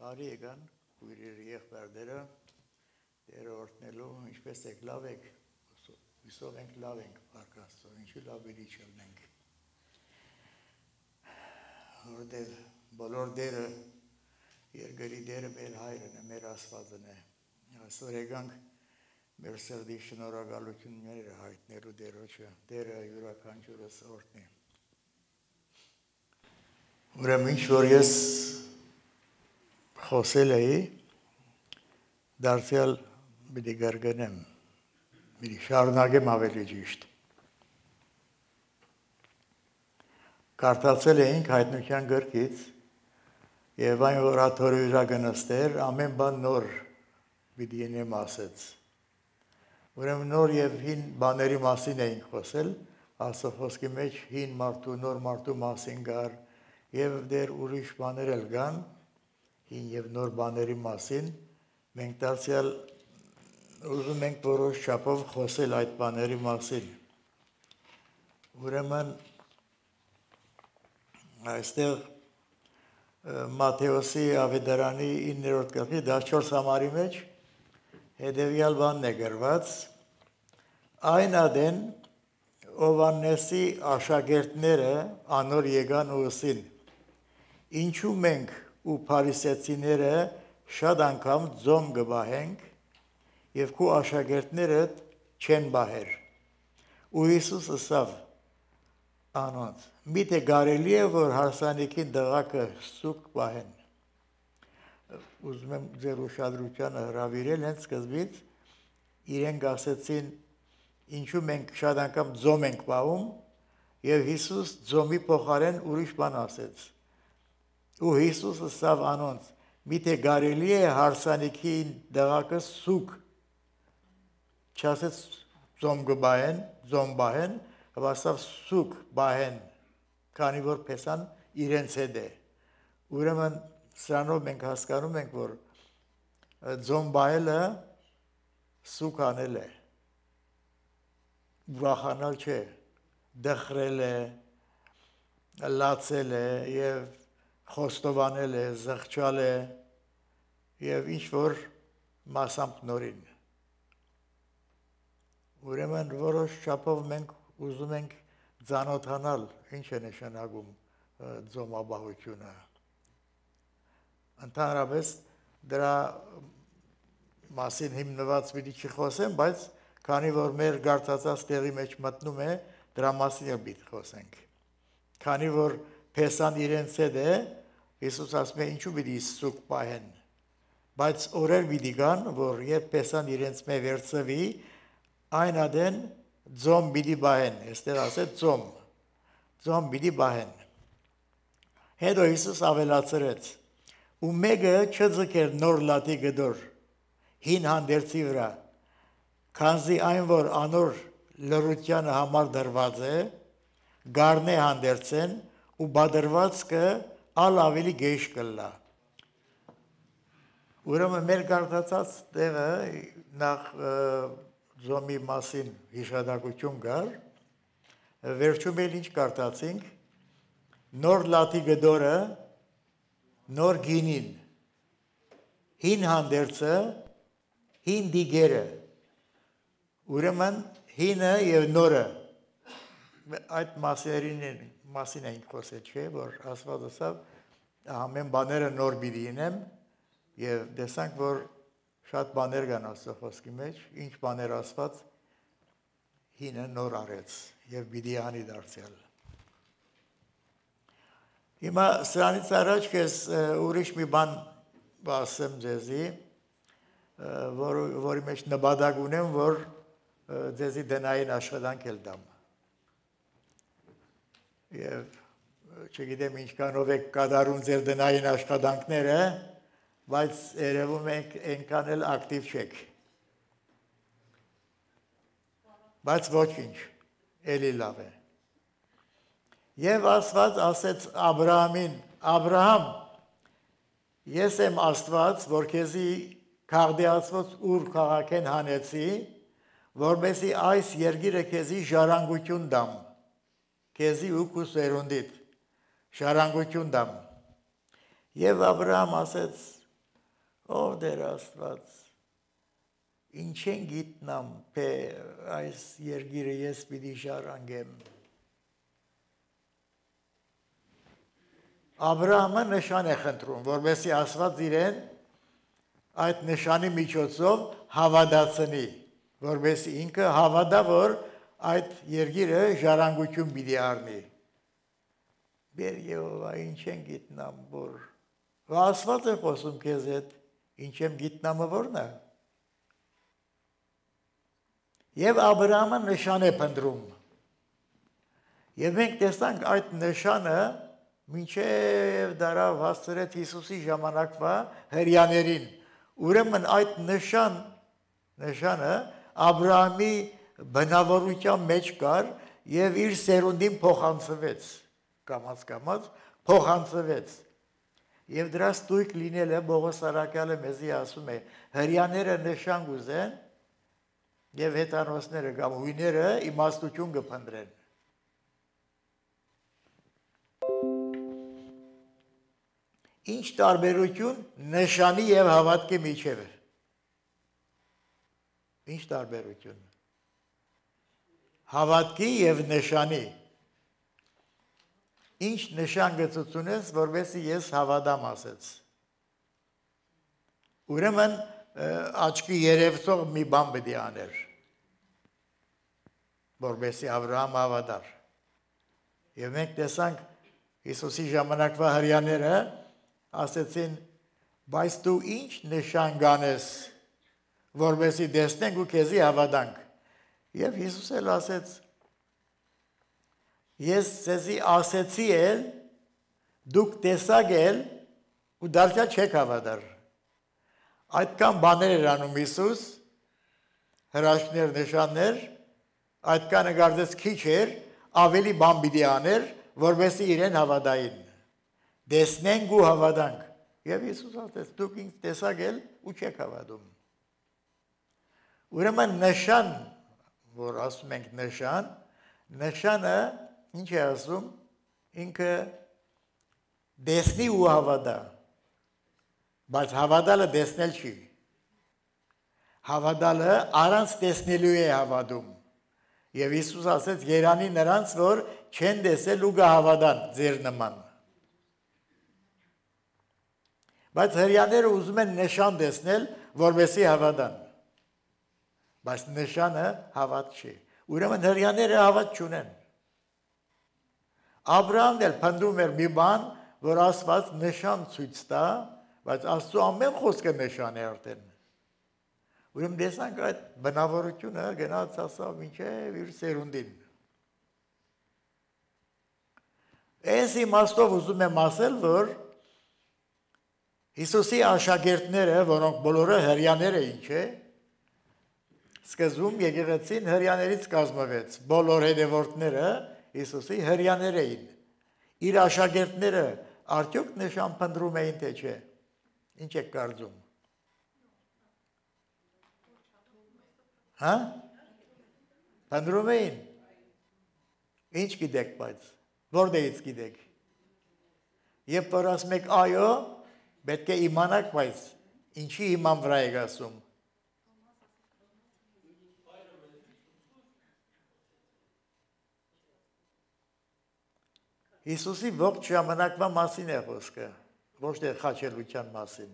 Բարի եկան, քույրեր եղբայրները, դերը օրհնելու, ինչպես եք լավ եք, հուսով ենք լավ ենք, Փառք Աստծո, ինչու լավ բերի չլինենք։ Որտեղ բոլոր դերը, երկրի դերը մեր հայրն է, մեր Աստվածն է։ Այսօր եկանք մեր սրտի շնորհակալությունները հայտնելու դերոջը, դերը յուրաքանչյուրս օրհնի։ Ուրեմն ինչ որ ես խոսել էի, դարձյալ պիտի կրկնեմ, պիտի շարունակեմ ավելի ճիշտ։ Կարդացել էինք հայտնության գրքից եւ այն որ աթորի վրա գնստեր, ամեն բան նոր պիտի ինեմ ասեց։ Ուրեմն նոր եւ հին բաների մասին էինք խոսել, Աստծո խոսքի մեջ հին մարդու, նոր մարդու մասին կար եւ դեր ուրիշ բաներ էլ կան, հին եւ նոր բաների մասին, մենք դարձյալ ուզում ենք որոշ չափով խոսել այդ բաների մասին։ Ուրեմն այստեղ Մատթեոսի ավետարանի 9-րդ գլխի 14 համարի մեջ հետևյալ բանն է գրված. այն ադեն Հովհաննեսի աշակերտները անոր եկան ու ըսին. ինչու մենք ու փարիսեցիները շատ անգամ ձոմ կբահենք եւ քու աշակերտներդ չեն բահեր։ Ու Հիսուս ասավ անոնց. միթե կարելի է որ հարսանիքին դղակը սուկ բահեն։ Ուզում եմ ձեր ուշադրությանը հրավիրել հենց սկզբից, իրենք ասեցին ինչու մենք շատ անգամ ձոմ ենք բահում եւ Հիսուս ձոմի փոխարեն ուրիշ բան ասեց։ Ու Հիսուս ասավ անոնց. միթե կարելի է հարսանիքին դղակը սուկ, չասեց ձոմ կբահեն, ձոմ բահեն, aber ասավ սուկ բահեն, քանի որ փեսան իրենց հետ է։ Ուրեմն սրանով մենք հասկանում ենք, որ ձոմ բահելը սուկ անել է, ուրախանալ չէ, դխրել է, լացել է եւ խոստովանել է, զղջալ է եւ ինչ որ մասամբ նորին։ Ուրեմն որոշ չափով մենք ուզում ենք ծանոթանալ ինչ է նշանակում ձոմաբահությունը։ Ընդհանրապես դրա մասին հիմնված պիտի չխոսեմ, բայց քանի որ մեր գարցածած տեղի մեջ մտնում է, դրա մասին էլ պիտի խոսենք։ Քանի որ փեսան իրենց հետ է, Հիսուս ասում է ինչու պիտի սուկ բահեն։ Բայց օրեր պիտի գան, որ երբ փեսան իրենց մեջ վերցվի, այն ադեն ձոմ պիտի բահեն, այստեղ ասեց ձոմ պիտի բահեն։ Հետո Հիսուս ավելացրեց. ու մեկը չձգեր նոր լատի գդոր հին հանդերձի վրա, քանզի այն որ անոր լրությանը համար դրված է, գառնե հանդերձեն ու բادرվածքը ալ ավելի գեշ կլա։ Ուրեմն մեր կարդացած տեղը նախ ձոմի մասին հիշադակություն կար, վերջում էլ ինչ կարդացինք, նոր լատի գդորը, նոր գինին, հին հանդերձը, հին դիգերը, ուրեմն հինը եւ նորը, այդ մասին ենք խոսել, չէ, որ Աստված ասավ ամեն բաները նոր պիտի ինեմ եւ տեսանք, որ շատ բաներ կան Աստծո խոսքի մեջ, ինչ բաներ Աստված հինը նոր արեց եւ պիտի անի դարձյալ։ Հիմա սրանից առաջ ես ուրիշ մի բան ասեմ ձեզի, որի մեջ նպատակ ունեմ, որ ձեզի դնային աշխատանք էլ տամ։ Եվ չգիտեմ ինչքանով եք կատարում ձեր դնային աշխատանքները, բայց երևում եք այնքան էլ ակտիվ չեք։ Բայց ոչինչ, էլի լավ է։ Եվ Աստված ասեց Աբրահամին. Աբրահամ, ես եմ Աստված, որ քեզի քաղդեացված Ուր քաղաքեն հանեցի, որպեսզի այս երկիրը քեզի ժառանգություն տամ, քեզի ու քու սերունդիդ ժառանգություն տամ։ Եվ Աբրահամ ասեց. ով Տեր Աստված, ինչ են գիտնամ, թե այս երկիրը ես պիտի շարանգեմ։ Աբրահամը նշան է խնդրում, որովհետեւ Աստված իրեն այդ նշանի միջոցով հավատացնի, որովհետեւ ինքը հավատա, որ այդ երկիրը ժառանգություն պիտի առնի։ Բեր Եհովա, ինչ են գիտնամ, որ Աստված է խոսում քեզ հետ, ինչ եմ գիտնամը որն է։ Եվ Աբրահամը նշան է փնտրում։ Եվ մենք տեսանք այդ նշանը մինչև դարավ հասցրեց Հիսուսի ժամանակվա հրեաներին։ Ուրեմն այդ նշանը Աբրահամի բնավորության մեջ կար եւ իր սերունդին փոխանցվեց, կամաց փոխանցվեց։ Եվ դրա ստույգ լինելը Պողոս Արաքյալը մեզի ասում է, հրեաները նշան գուզեն եւ հեթանոսները կամ հույները իմաստություն կփնտրեն։ Ինչ տարբերություն նշանի եւ հավատքի միջև է։ Ինչ տարբերություն։ Հավատքի եւ նշանի։ Ինչ նշան գծությունես, որովհետեւ ես հավատամ ասեց։ Ուրեմն աչքի երևցող մի բան պետք է աներ, որովհետեւ Աբրահամ հավատար։ Եվ մենք տեսանք Հիսուսի ժամանակվա հրեաները ասեցին, բայց դու ինչ նշան կանես, որովհետեւ տեսնենք ու քեզի հավատանք։ Եվ Հիսուս էլ ասեց, ես ձեզի ասեցի էլ, դուք տեսակ էլ ու դարձյալ չեք հավատար։ Այդքան բաներ էր անում Հիսուս, հրաշքներ, նշաններ, այդքանը կարծես քիչ էր, ավելի բան պիտի աներ, որովհետեւ իրեն հավատային։ Տեսնենք ու հավատանք։ Եվ Հիսուս ասեց, դուք ինձ տեսակ էլ ու չեք հավատում։ Ուրեմն նշան, որ ասում ենք նշանը ինչ է ասում, ինքը տեսնի ու հավատա, բայց հավատալը տեսնել չի։ Հավատալը առանց տեսնելու է հավատում։ Եվ Հիսուս ասեց, երանի նրանց, որ չեն տեսել ու կհավատան ձեր նման։ Բայց հրեաները ուզում են նշան տեսնել, որովհետեւ հավատան։ Բայց նշանը հավատ չի։ Ուրեմն հրեաները հավատ չունեն։ Աբրահամն էլ փնտրում էր մի բան, որ Աստված նշան ցույց տա, բայց Աստծո ամեն խոսքը նշան է արդեն։ Ուրեմն տեսանք այդ բնավորությունը գնաց ասավ մինչև իր սերունդին։ Այս իմաստով ուզում եմ ասել, որ Հիսուսի աշակերտները, որոնք բոլորը հրեաներ էին, չէ՞, սկզբում եկեղեցին հրեաներից կազմվեց, բոլոր հետևորդները Հիսուսի հրեաներ էին։ Իր աշակերտները արդյոք նշան փնտրում էին, թե չէ։ Ինչ եք կարծում։ Հա? Փնտրում էին։ Ինչ գիտեք, բայց որտեղից գիտեք։ Եվ որ ասում եք այո, պետք է իմանաք, բայց ինչի իման վրա եք ասում։ Հիսուսի ողջ ժամանակվա մասին է խոսքը, ոչ թե խաչելության մասին։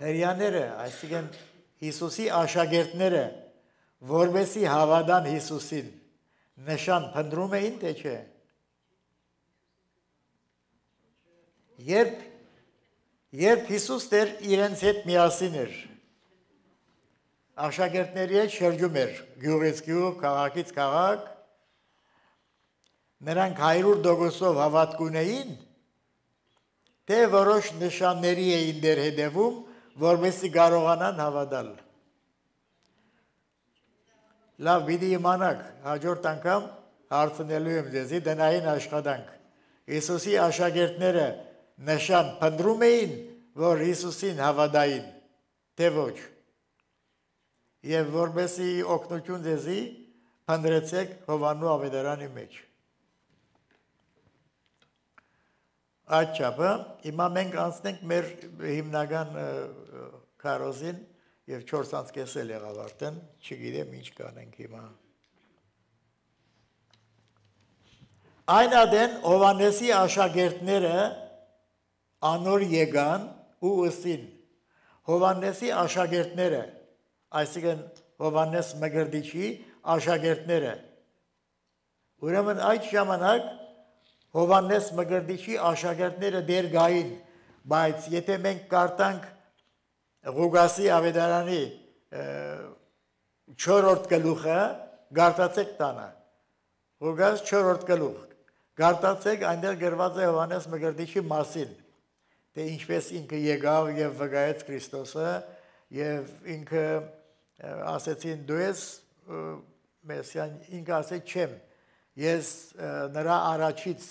Հրեաները, այսինքն Հիսուսի աշակերտները, որովհետեւ հավատան Հիսուսին, նշան փնտրում էին, թե չէ։ Երբ Հիսուս դեր իրենց հետ միասին էր, աշակերտների հետ շրջում էր, գյուղից գյուղ, քաղաքից քաղաք, նրանք 100% հավատք ունեին, թե որոշ նշանների էին դեր հետևում, որպեսզի կարողանան հավատալ։ Լավ, պիտի իմանաք, հաջորդ անգամ հարցնելու եմ ձեզի դնային աշխատանք։ Հիսուսի աշակերտները նշան փնտրում էին, որ Հիսուսին հավատային, թե ոչ։ Եվ որպեսզի օգնություն ձեզի փնտրեցեք Հովհաննու ավետարանի մեջ։ այդ չափը հիմա մենք անցնենք մեր հիմնական քարոզին եւ 4:30 էլ եղավ արդեն, չգիտեմ ինչ կանենք հիմա։ Այն ադեն Հովանեսի աշակերտները անոր եկան ու ըսին Հովանեսի աշակերտները, այսինքն Հովանես Մկրտիչի աշակերտները։ Ուրեմն այդ ժամանակ Հովանես Մկրտիչի աշակերտները դեր գային, բայց եթե մենք կարդանք Ղուկասի ավետարանի 4-րդ գլուխը, գարտացեք տանը։ Ղուկաս 4-րդ գլուխ։ Գարտացեք, այնտեղ գրված է Հովանես Մկրտիչի մասին, թե ինչպես ինքը եկավ եւ վկայեց Քրիստոսը եւ ինքը ասեցին դու ես Մեսիան, ինքը ասեց չեմ, ես նրա առաջից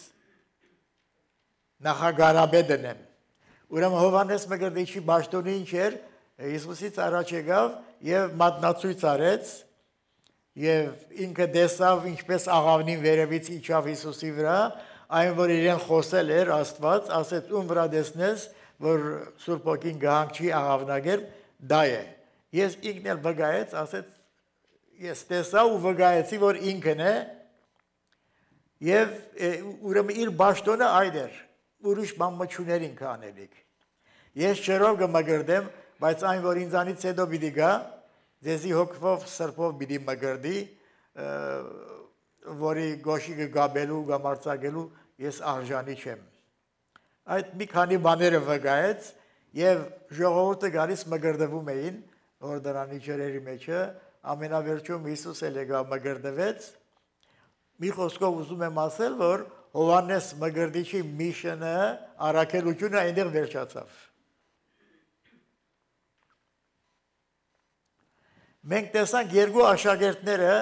նախագարաբեդն եմ։ Ուրեմն Հովանես Մկրտիչի բաշտոնը ինչ էր, Հիսուսից առաջ եկավ եւ մատնացույց արեց եւ ինքը տեսավ ինչպես աղավնին վերևից իջավ Հիսուսի վրա, այն որ իրեն խոսել էր Աստված, ասեց ում վրա տեսնես, որ Սուրբ Օքին գահանքի աղավնագեր, դա է։ Ես ինքն էլ վկայեց, ասեց ես տեսա ու վկայեցի, որ ինքն է եւ ուրեմն իր բաշտոնը այդ էր, ուրիշ բան մչուներին կանելիք։ Ես չերով կմգրդեմ, բայց այն որ ինձանից հետո պիտի գա, ձեզի հոգվով սրբով պիտի մգրդի, որի գոշիկը գաբելու, գամարցակելու ես արժանի չեմ։ Այդ մի քանի բաները վկայեց եւ ժողովուրդը գալիս մգրդվում էին օրդրանի ջրերի մեջը, ամենավերջում Հիսուս էլ եկավ մգրդվեց։ Մի խոսքով ուզում եմ ասել, որ Հովանես Մկրտիչի միշնը, առաքելությունը այնտեղ վերջացավ։ Մենք տեսանք երկու աշակերտները,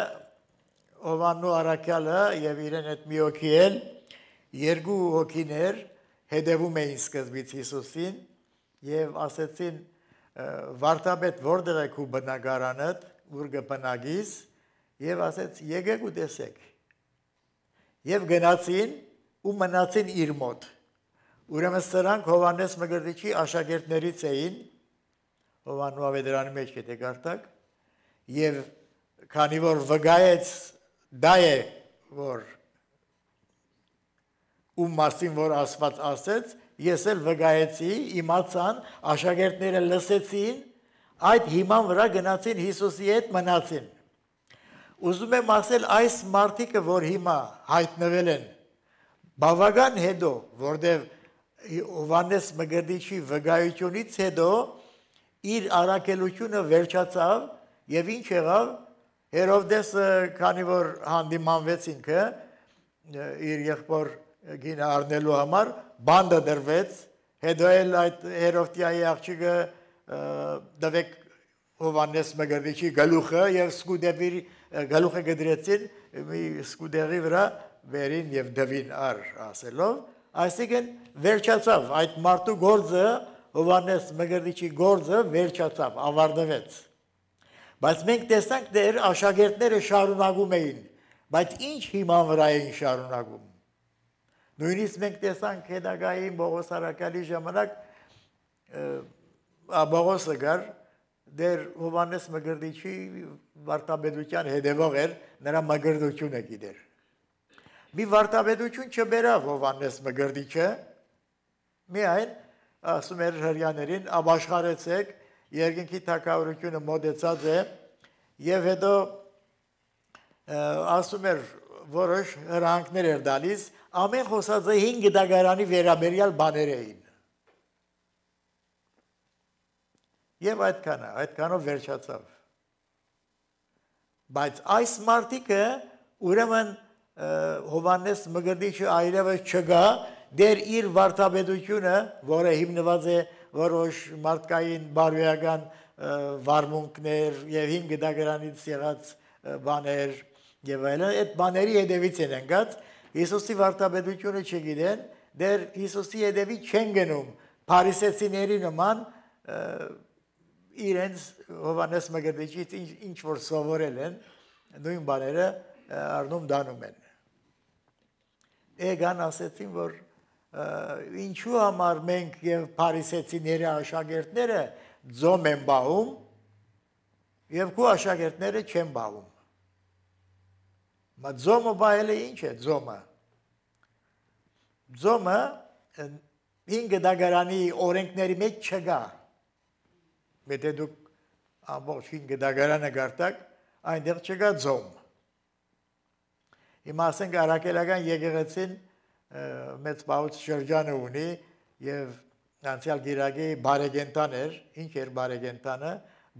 Հովաննու առաքյալը եւ իրեն հետ մի հոգի էլ, երկու հոգիներ հետևում էին սկզբից Հիսուսին եւ ասեցին վարդապետ որտեղ է քու բնակարանդ, ուր կբնակիս եւ ասեց եկեք ու տեսեք։ Եվ գնացին ու մնացին իր մոտ։ Ուրեմն սրանք Հովանես Մկրտիչի աշակերտներից էին, Հովաննու ավետարանի մեջ եթե կարդաք, եւ քանի որ վկայեց դա է որ ում մասին որ Աստված ասեց, ես էլ վկայեցի, իմացան, աշակերտները լսեցին, այդ հիման վրա գնացին Հիսուսի հետ մնացին։ Ուզում եմ ասել այս մարդիկը, որ հիմա հայտնվել են, բավական հետո, որտեղ Հովանես Մկրտիչի վկայությունից հետո իր առաքելությունը վերջացավ եւ ինչ եղավ, Հերովդեսը, քանի որ հանդիմանվեց ինքը իր եղբոր գինը առնելու համար, բանդը դրվեց, հետո էլ այդ Հերովդիայի աղջիկը դվեք Հովանես Մկրտիչի գլուխը եւ սկուդերի գլուխը գդրեցին մի սկուդերի վրա վերին եւ դվին առ ասելով, այսինքն վերջացավ այդ մարդու գործը, Հովանես Մկրտիչի գործը վերջացավ, ավարտվեց։ Բայց մենք տեսանք դեր աշակերտները շարունակում էին, բայց ինչ հիման վրա էին շարունակում։ Նույնիսկ մենք տեսանք հետագային Պողոս առաքյալի ժամանակ Պողոսը գար դեր Հովանես Մկրտիչի վարդապետության հետևող էր, նրա մկրտությունը գիտեր։ Մի վարդապետություն չբերավ Հովանես Մկրտիչը, միայն ասում էր հրյաներին, ապաշխարեցեք, երկինքի թագավորությունը մոտեցած է, եւ հետո ասում էր որոշ հրահանգներ էր դալիս, ամեն խոսածը 5 դագարանի վերաբերյալ բաներ էին։ Եվ այդքանով վերջացավ։ Բայց այս մարդիկը ուրեմն Հովանես Մկրտիչը այլևս չգա, դեր իր վարդապետությունը, որը հիմնված է որոշ մարդկային բարոյական վարմունքներ եւ 5 դագարանից եղած բաներ եւ այլն, այդ բաների հետևից են ընկած, Հիսուսի վարդապետությունը չգիտեն, դեր Հիսուսի հետևից չեն գնում, փարիսեցիների նման իրենց Հովանես Մկրտիչից ինչ որ սովորել են, նույն բաները առնում դանում են։ Էգան ասեցին, որ ինչու համար մենք եւ փարիսեցիների աշակերտները ձոմ են բաղում եւ քո աշակերտները չեն բաղում։ Մա ձոմը բայելը ինչ է ձոմը։ Ձոմը 5 դագարանի օրենքների մեջ չկա։ Եթե դուք ամբողջ 5 դագարանը գարտակ, այնտեղ չկա ձոմ։ Հիմա ասենք արաքելական եկեղեցին մեծ բաղուց շրջանը ունի եւ անցյալ գիրագի բարեգենտան էր, ինչ էր բարեգենտանը,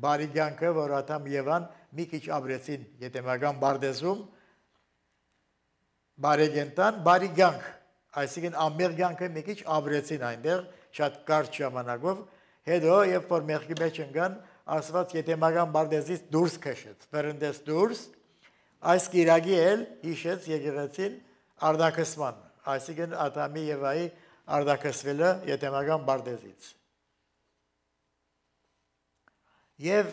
բարի կյանքը, որ Ադամ Եվան մի քիչ ապրեցին Եթեմական Բարդեզում, բարեգենտան, բարի կյանք, այսինքն ամբեր կյանքը մի քիչ ապրեցին այնտեղ, շատ կարճ ժամանակով, հետո երբ որ մեղքի մեջ ընկան, ասված Եթեմական Բարդեզից դուրս քշեց, վրընդեց դուրս, այս գիրագի էլ հիշեց եկեղեցին արդակսման, այսինքն Ադամի Եվայի արդակսվելը Եթեմական Բարդեզից։ Եվ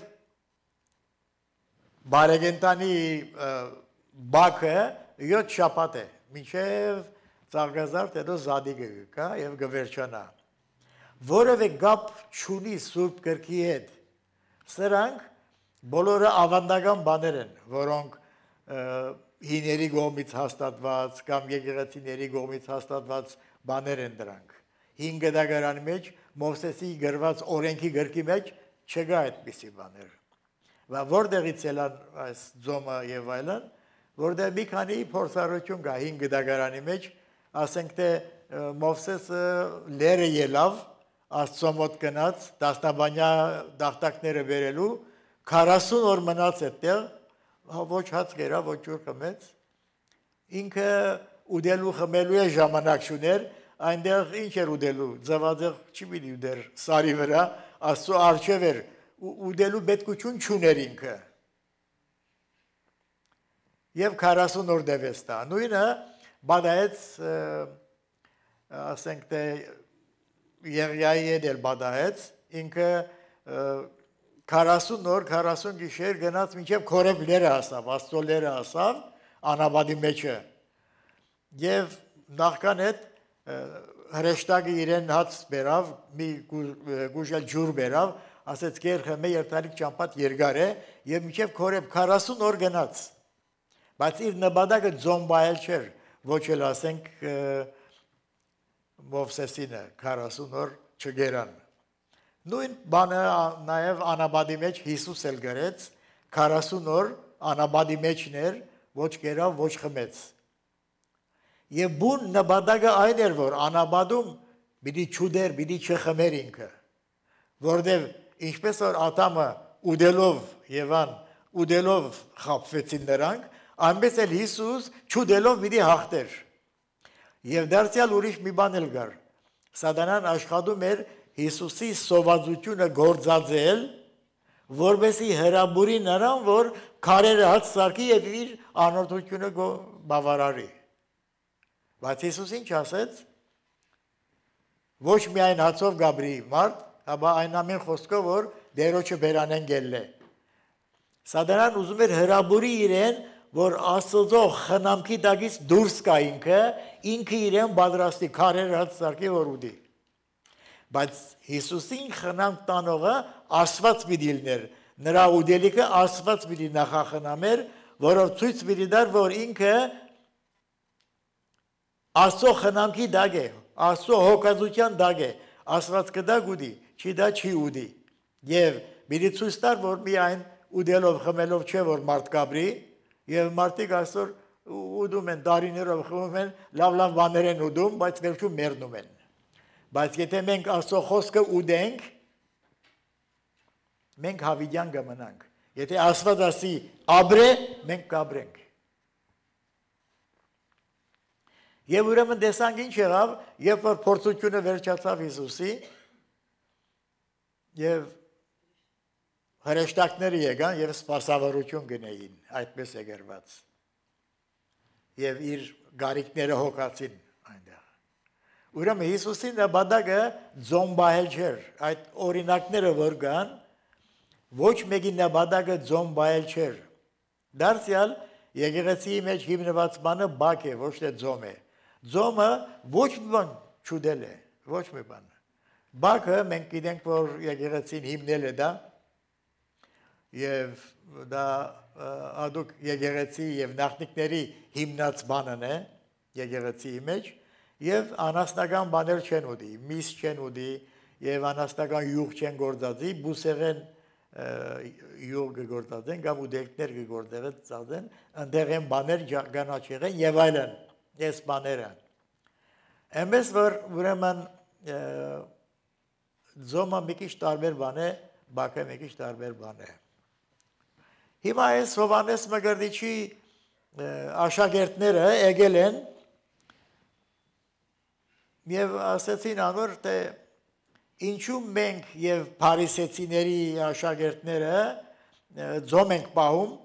բարեգենտանի բակը 7 շաբաթ է, մինչև ծաղկազարդ հետո զադիգը կա եւ գվերջանա։ Որևէ գապ չունի Սուրբ Գրքի հետ։ Սրանք բոլորը ավանդական բաներ են, որոնք հիների կողմից հաստատված կամ եկեղեցիների կողմից հաստատված բաներ են դրանք։ 5 դագարանի մեջ Մովսեսի գրված օրենքի գրքի մեջ չկա այդպիսի բաներ։ Và որտեղից ելան այս ձոմը եւ այլն, որտեղ մի քանի փորձառություն կա 5 դագարանի մեջ, ասենք թե Մովսեսը լերը ելավ, Աստծո մոտ գնաց, դասնաբանյա դախտակները վերելու, 40 օր մնաց այդտեղ, ոչ հաց գերա, ոչ ջուր խմեց։ Ինքը ուդելու խմելու է ժամանակ չուներ, այնտեղ ինչ էր ուդելու, ձվածեղ չի պիտի ուդեր սարի վրա, Աստծո առջև էր, ուդելու պետքություն չուներ ինքը։ Եվ 40 օր դևեց տա։ Նույնը բադայեց, ասենք թե Եղիայի հետ էլ բադայեց, ինքը 40 օր, 40 գիշեր գնաց մինչև Քորեբ լերը հասավ, Աստծո լերը հասավ, անաբադի մեջը։ Եվ նախքան հետ հրեշտակը իրեն հաց բերավ, մի գուժել ջուր բերավ, ասեց կեր խմե երթալիք ճամփատ երկար է, եւ մինչև Քորեբ 40 օր գնաց։ Բայց իր նպատակը ձոմբայել չէր, ոչ էլ ասենք Մովսեսինը 40 օր չգերան։ Նույն բանը նաև անաբադի մեջ Հիսուս էլ գրեց 40 օր անաբադի մեջն էր, ոչ գերավ, ոչ խմեց։ Եվ բուն նպատակը այն էր, որ անաբադում պիտի չուդեր, պիտի չխմեր ինքը, որտեղ ինչպես որ Ադամը ուդելով Եվան ուդելով խաբվեցին նրանք, այնպես էլ Հիսուս չուդելով պիտի հաղթեր։ Եվ դարձյալ ուրիշ մի բան էլ կար։ Սատանան աշխատում էր Հիսուսի սովածությունը գործածել, որպեսզի հրաբուրի նրան, որ քարերը հաց սարքի եւ իր անօրդությունը բավարարի։ Բայց Հիսուս ինչ ասեց։ Ոչ միայն հացով գաբրի մարդ, հաբա այն ամեն խոսքով, որ դերոջը բերանեն գելն է։ Սատանան ուզում էր հրաբուրի իրեն, որ Աստծո խնամքի տակից դուրս կա ինքը իրեն պատրաստի քարեր հաց սարքի որ ուդի։ Բայց Հիսուսին խնամք տանողը Աստված պիտի լիներ, նրա ուդելիքը Աստված պիտի նախախնամեր, որով ցույց պիտի տար, որ ինքը Աստծո խնամքի տակ է, Աստծո հոգածության տակ է, Աստված կդա գուդի, չի դա չի ուդի։ Եվ պիտի ցույց տար, որ միայն ուդելով խմելով չէ որ մարդ կաբրի, եւ մարդիկ այսօր ուդում են դարիներով խմում են, լավ բաներ են ուդում, բայց վերջում մեռնում են։ Բայց եթե մենք Աստծո խոսքը ուդենք, մենք հավիտյան կմնանք։ Եթե Աստված ասի ապրե, մենք կապրենք։ Եվ ուրեմն տեսանք ինչ եղավ, երբ որ փորձությունը վերջացավ Հիսուսի, եւ հրեշտակները եկան եւ սպասավորություն գնեին, այդպես է գրված։ Եվ իր գարիկները հոգացին այնտեղ։ Ուրեմն Հիսուսի նպատակը ձոմբահել չէր, այդ օրինակները որ կան, ոչ մեկի նպատակը ձոմբահել չէր։ Դարձյալ եկեղեցիի մեջ հիմնված բանը բակ է, ոչ թե ձոմ է։ Ձոմը ոչ մի բան չուդել է, ոչ մի բան։ Բակը մենք գիտենք, որ եկեղեցին հիմնել է դա, եւ դա ադուք եկեղեցի եւ նախնիկների հիմնած բանն է եկեղեցիի մեջ եւ անաստական բաներ չեն ուդի, միս չեն ուդի եւ անաստական յուղ չեն գործածի, բուսեղեն յուղ գործածեն կամ ուդելքներ գործածեն, ընդեղ են բաներ գանաչեղեն եւ այլն, այս բաները։ Այնպես որ ուրեմն ձոմը մի քիչ տարբեր բան է, բակը մի քիչ տարբեր բան է։ Հիմա այս Հովհաննես Մկրտիչի աշակերտները եկել են եւ ասեցին անոր թե ինչու մենք եւ փարիսեցիների աշակերտները ձոմ ենք պահում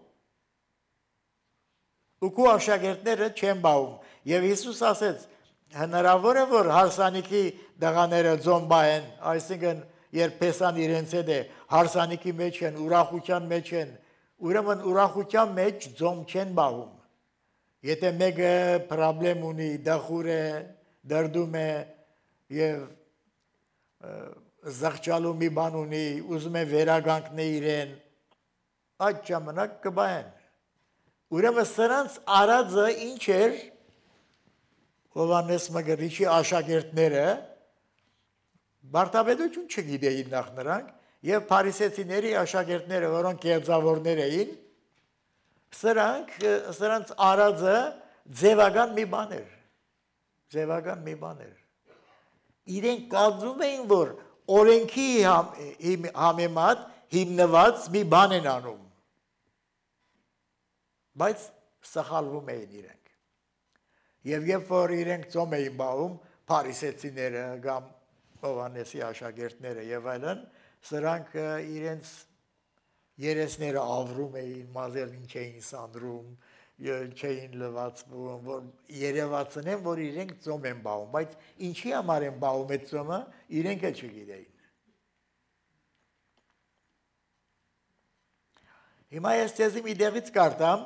ու քո աշակերտները չեն պահում եւ Հիսուս ասեց հնարավոր է որ հարսանիքի դղաները ձոմ պահեն, այսինքն երբ փեսան իրենց հետ է հարսանիքի մեջ են, ուրախության մեջ են, ուրեմն ուրախության մեջ ձոմ չեն պահում։ Եթե մեկը պրոբլեմ ունի, դախուր է, դրդում է եւ զղջալու մի բան ունի, ուզում է վերագանքնի իրեն, այդ ժամանակ կբահեն։ Ուրեմն սրանց արածը ինչ էր Հովհաննես Մկրտիչի աշակերտները բարտաբեդություն չգիտեին նախ նրանք եւ փարիսեցիների աշակերտները, որոնք կեղծավորներ էին, սրանց արածը ձևական մի բան էր։ Ձևական մի բան էր։ Իրենք կարծում էին, որ օրենքի համեմատ հիմնված մի բան են անում։ Բայց սխալվում էին իրենք։ Եվ երբ որ իրենք ծոմ էին բահում, փարիսեցիները կամ Հովհաննեսի աշակերտները եւ այլն, սրանք իրենց երեսները ավրում էին, մազերին չէին սանդրում, չէին լվացվում, որ երևացն են, որ իրենք ծոմ են բահում, բայց ինչի համար են բահում այդ ծոմը, իրենք էլ չգիտեին։ Հիմա ես ձեզի մի դեղից կարտամ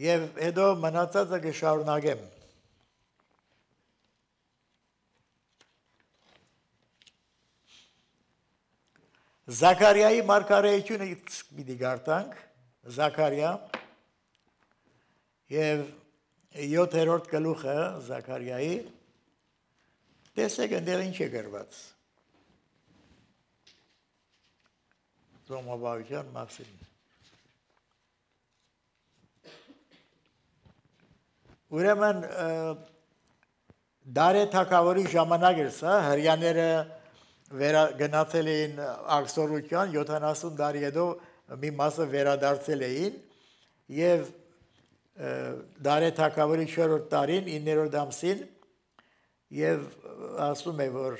եւ հետո մնացածը կշարունակեմ։ Զաքարիայի մարգարեությունը պիտի գարտանք, Զաքարիա եւ 7-րդ գլուխը Զաքարիայի տեսեք այնտեղ ինչ է գրված։ Ձոմաբավության մասին։ Ուրեմն Դարե թագավորի ժամանակ էր սա, հրյաները գնացել էին ակսորության, 70 տարի հետո մի մասը վերադարձել էին եւ Դարե թագավորի 4-րդ տարին 9-րդ ամսին եւ ասում է որ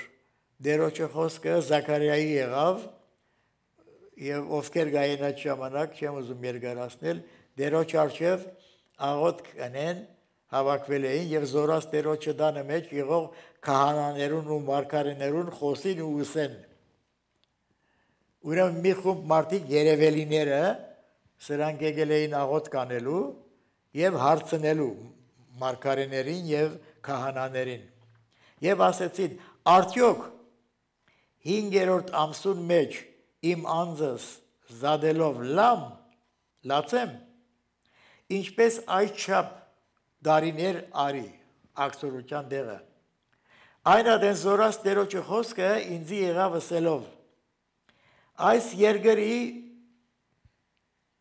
Տերոջը խոսքը Զաքարիայի եղավ եւ ովքեր գային այդ ժամանակ, չեմ ուզում երկարացնել, Տերոջ արչեւ աղոթք կանեն հավաքվել էին եւ զորած Տերոջը դանը մեջ եղող քահանաներուն ու մարգարեներուն խոսին ու ուսեն։ Ուրեմն մի խումբ մարդիկ երևելիները սրանք եկել էին աղոթք անելու եւ հարցնելու մարգարեներին եւ քահանաներին։ Եվ ասեցին. արդյոք 5-րդ ամսուն մեջ իմ անձս զադելով լացեմ, ինչպես այդչափ դարիներ արի ակսորության դեղը։ Այն ադեն զորած Տերոջը խոսքը ինձի եղավ ասելով. այս երկրի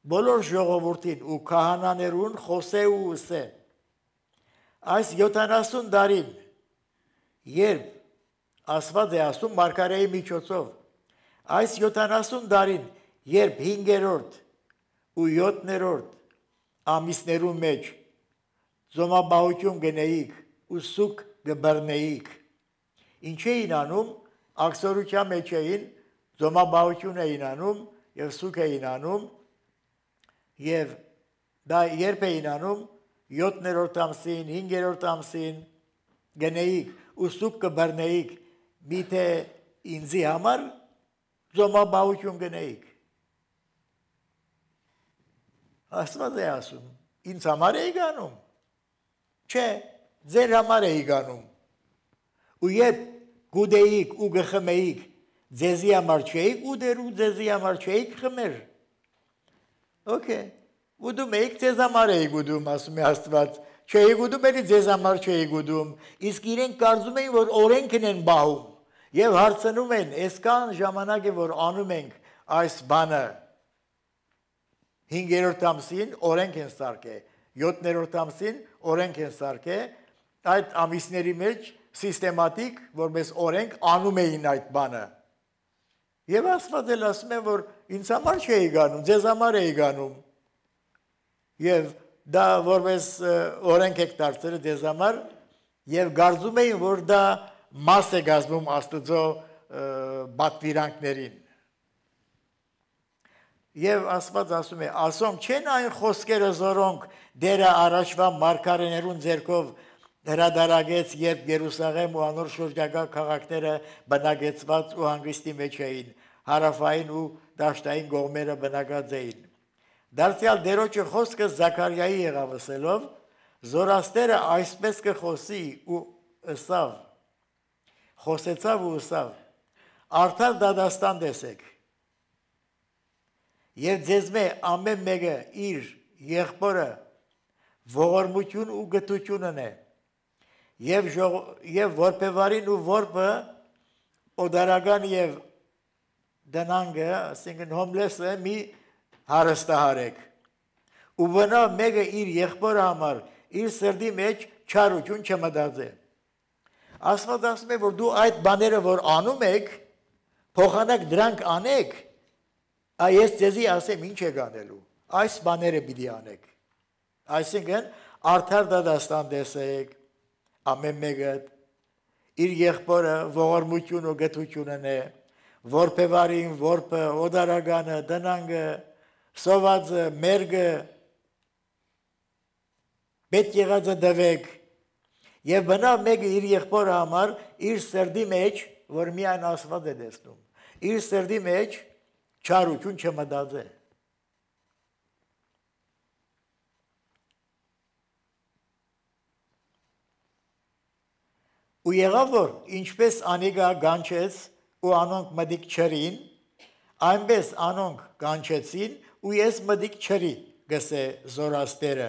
բոլոր ժողովուրդին ու քահանաներուն խոսե ու ուսե։ Այս 70 տարին, երբ ասված է ասում մարգարեի միջոցով, այս 70 տարին, երբ 5-րդ ու 7-րդ ամիսներու մեջ ձոմաբահություն գնեիք ու սուկ գբռնեիք, ինչ էին անում, ակսորության մեջ էին, ձոմաբահություն էին անում եւ սուկ էին անում եւ դա երբ էին անում 7-րդ ամսին, 5-րդ ամսին գնեիք ու սուկ կբռնեիք, միթե ինձի համար ձոմաբահություն գնեիք։ Աստված է ասում, ինձ համար էի գանում։ Չէ, ձեր համար էի գանում։ Ու երբ գուդեիք ու գխմեիք ձեզի համար չէիք ուդեր ու ձեզի համար չէիք խմեր։ Okay։ Ուդում եք ձեզ համար էիք ուդում, ասում է Աստված։ Չէիք ուդում, էլի ձեզ համար չէիք ուդում։ Իսկ իրենք կարծում էին, որ օրենքն են բահում։ Եվ հարցնում են, այսքան ժամանակ է, որ անում ենք այս բանը 5-րդ ամսին օրենք են սարքել, 7-րդ ամսին օրենք են սարքել, այդ ամիսների մեջ սիստեմատիկ, որպես օրենք անում էին այդ բանը։ Եվ Աստված էլ ասում է, որ ինձ համար չէի գանում, ձեզ համար էի գանում։ Եվ դա որպես օրենք եք դարձել ձեզ համար, եւ կարծում էին, որ դա մաս է գազմում Աստծո բատվիրանքներին։ Եվ Աստված ասում է, ասոնք չեն այն խոսքերը, որոնք դերը առաջվա մարգարեներուն ձեռքով հրադարագեց, երբ Երուսաղեմ ու անոր շրջակա քաղաքները բնակեցված ու հանգստի մեջ էին, հարավային ու դաշտային կողմերը բնակած էին։ Դարձյալ դերոջը խոսքը Զաքարիայի եղավ ասելով, Զորաստերը այսպես կխոսի ու ըսավ, խոսեցավ ու ըսավ, արդար դադաստան տեսեք, եւ ձեզմե ամեն մեկը իր եղբորը ողորմություն ու գթությունն է, եւ որպեվարին ու որպը օդարական եւ դնանգը, ասինքն հոմլեսը մի հարստահարեք, ու բնա մեկը իր եղբորը համար իր սրդի մեջ չարություն չմտածե։ Աստված ասում է, որ դու այդ բաները, որ անում եք, փոխանակ դրանք անեք, այս ձեզի ասեմ ինչ եք անելու, այս բաները պիտի անեք։ Այսինքն արդար դադաստան տեսեք, ամեն մեկը իր եղբորը ողորմություն ու գթությունն է, որպեվարին, որպը, օդարագանը, դնանգը, սովածը, մերգը, պետք եղածը դվեք, եւ բնա մեկը իր եղբորը համար իր սրդի մեջ, որ միայն Աստված է տեսնում, իր սրդի մեջ չարություն չմտածե։ Ու եղավ որ ինչպես անիգա գանչեց ու անոնք մդիկ չրին, այնպես անոնք գանչեցին ու ես մդիկ չրի գսե Զորաստերը։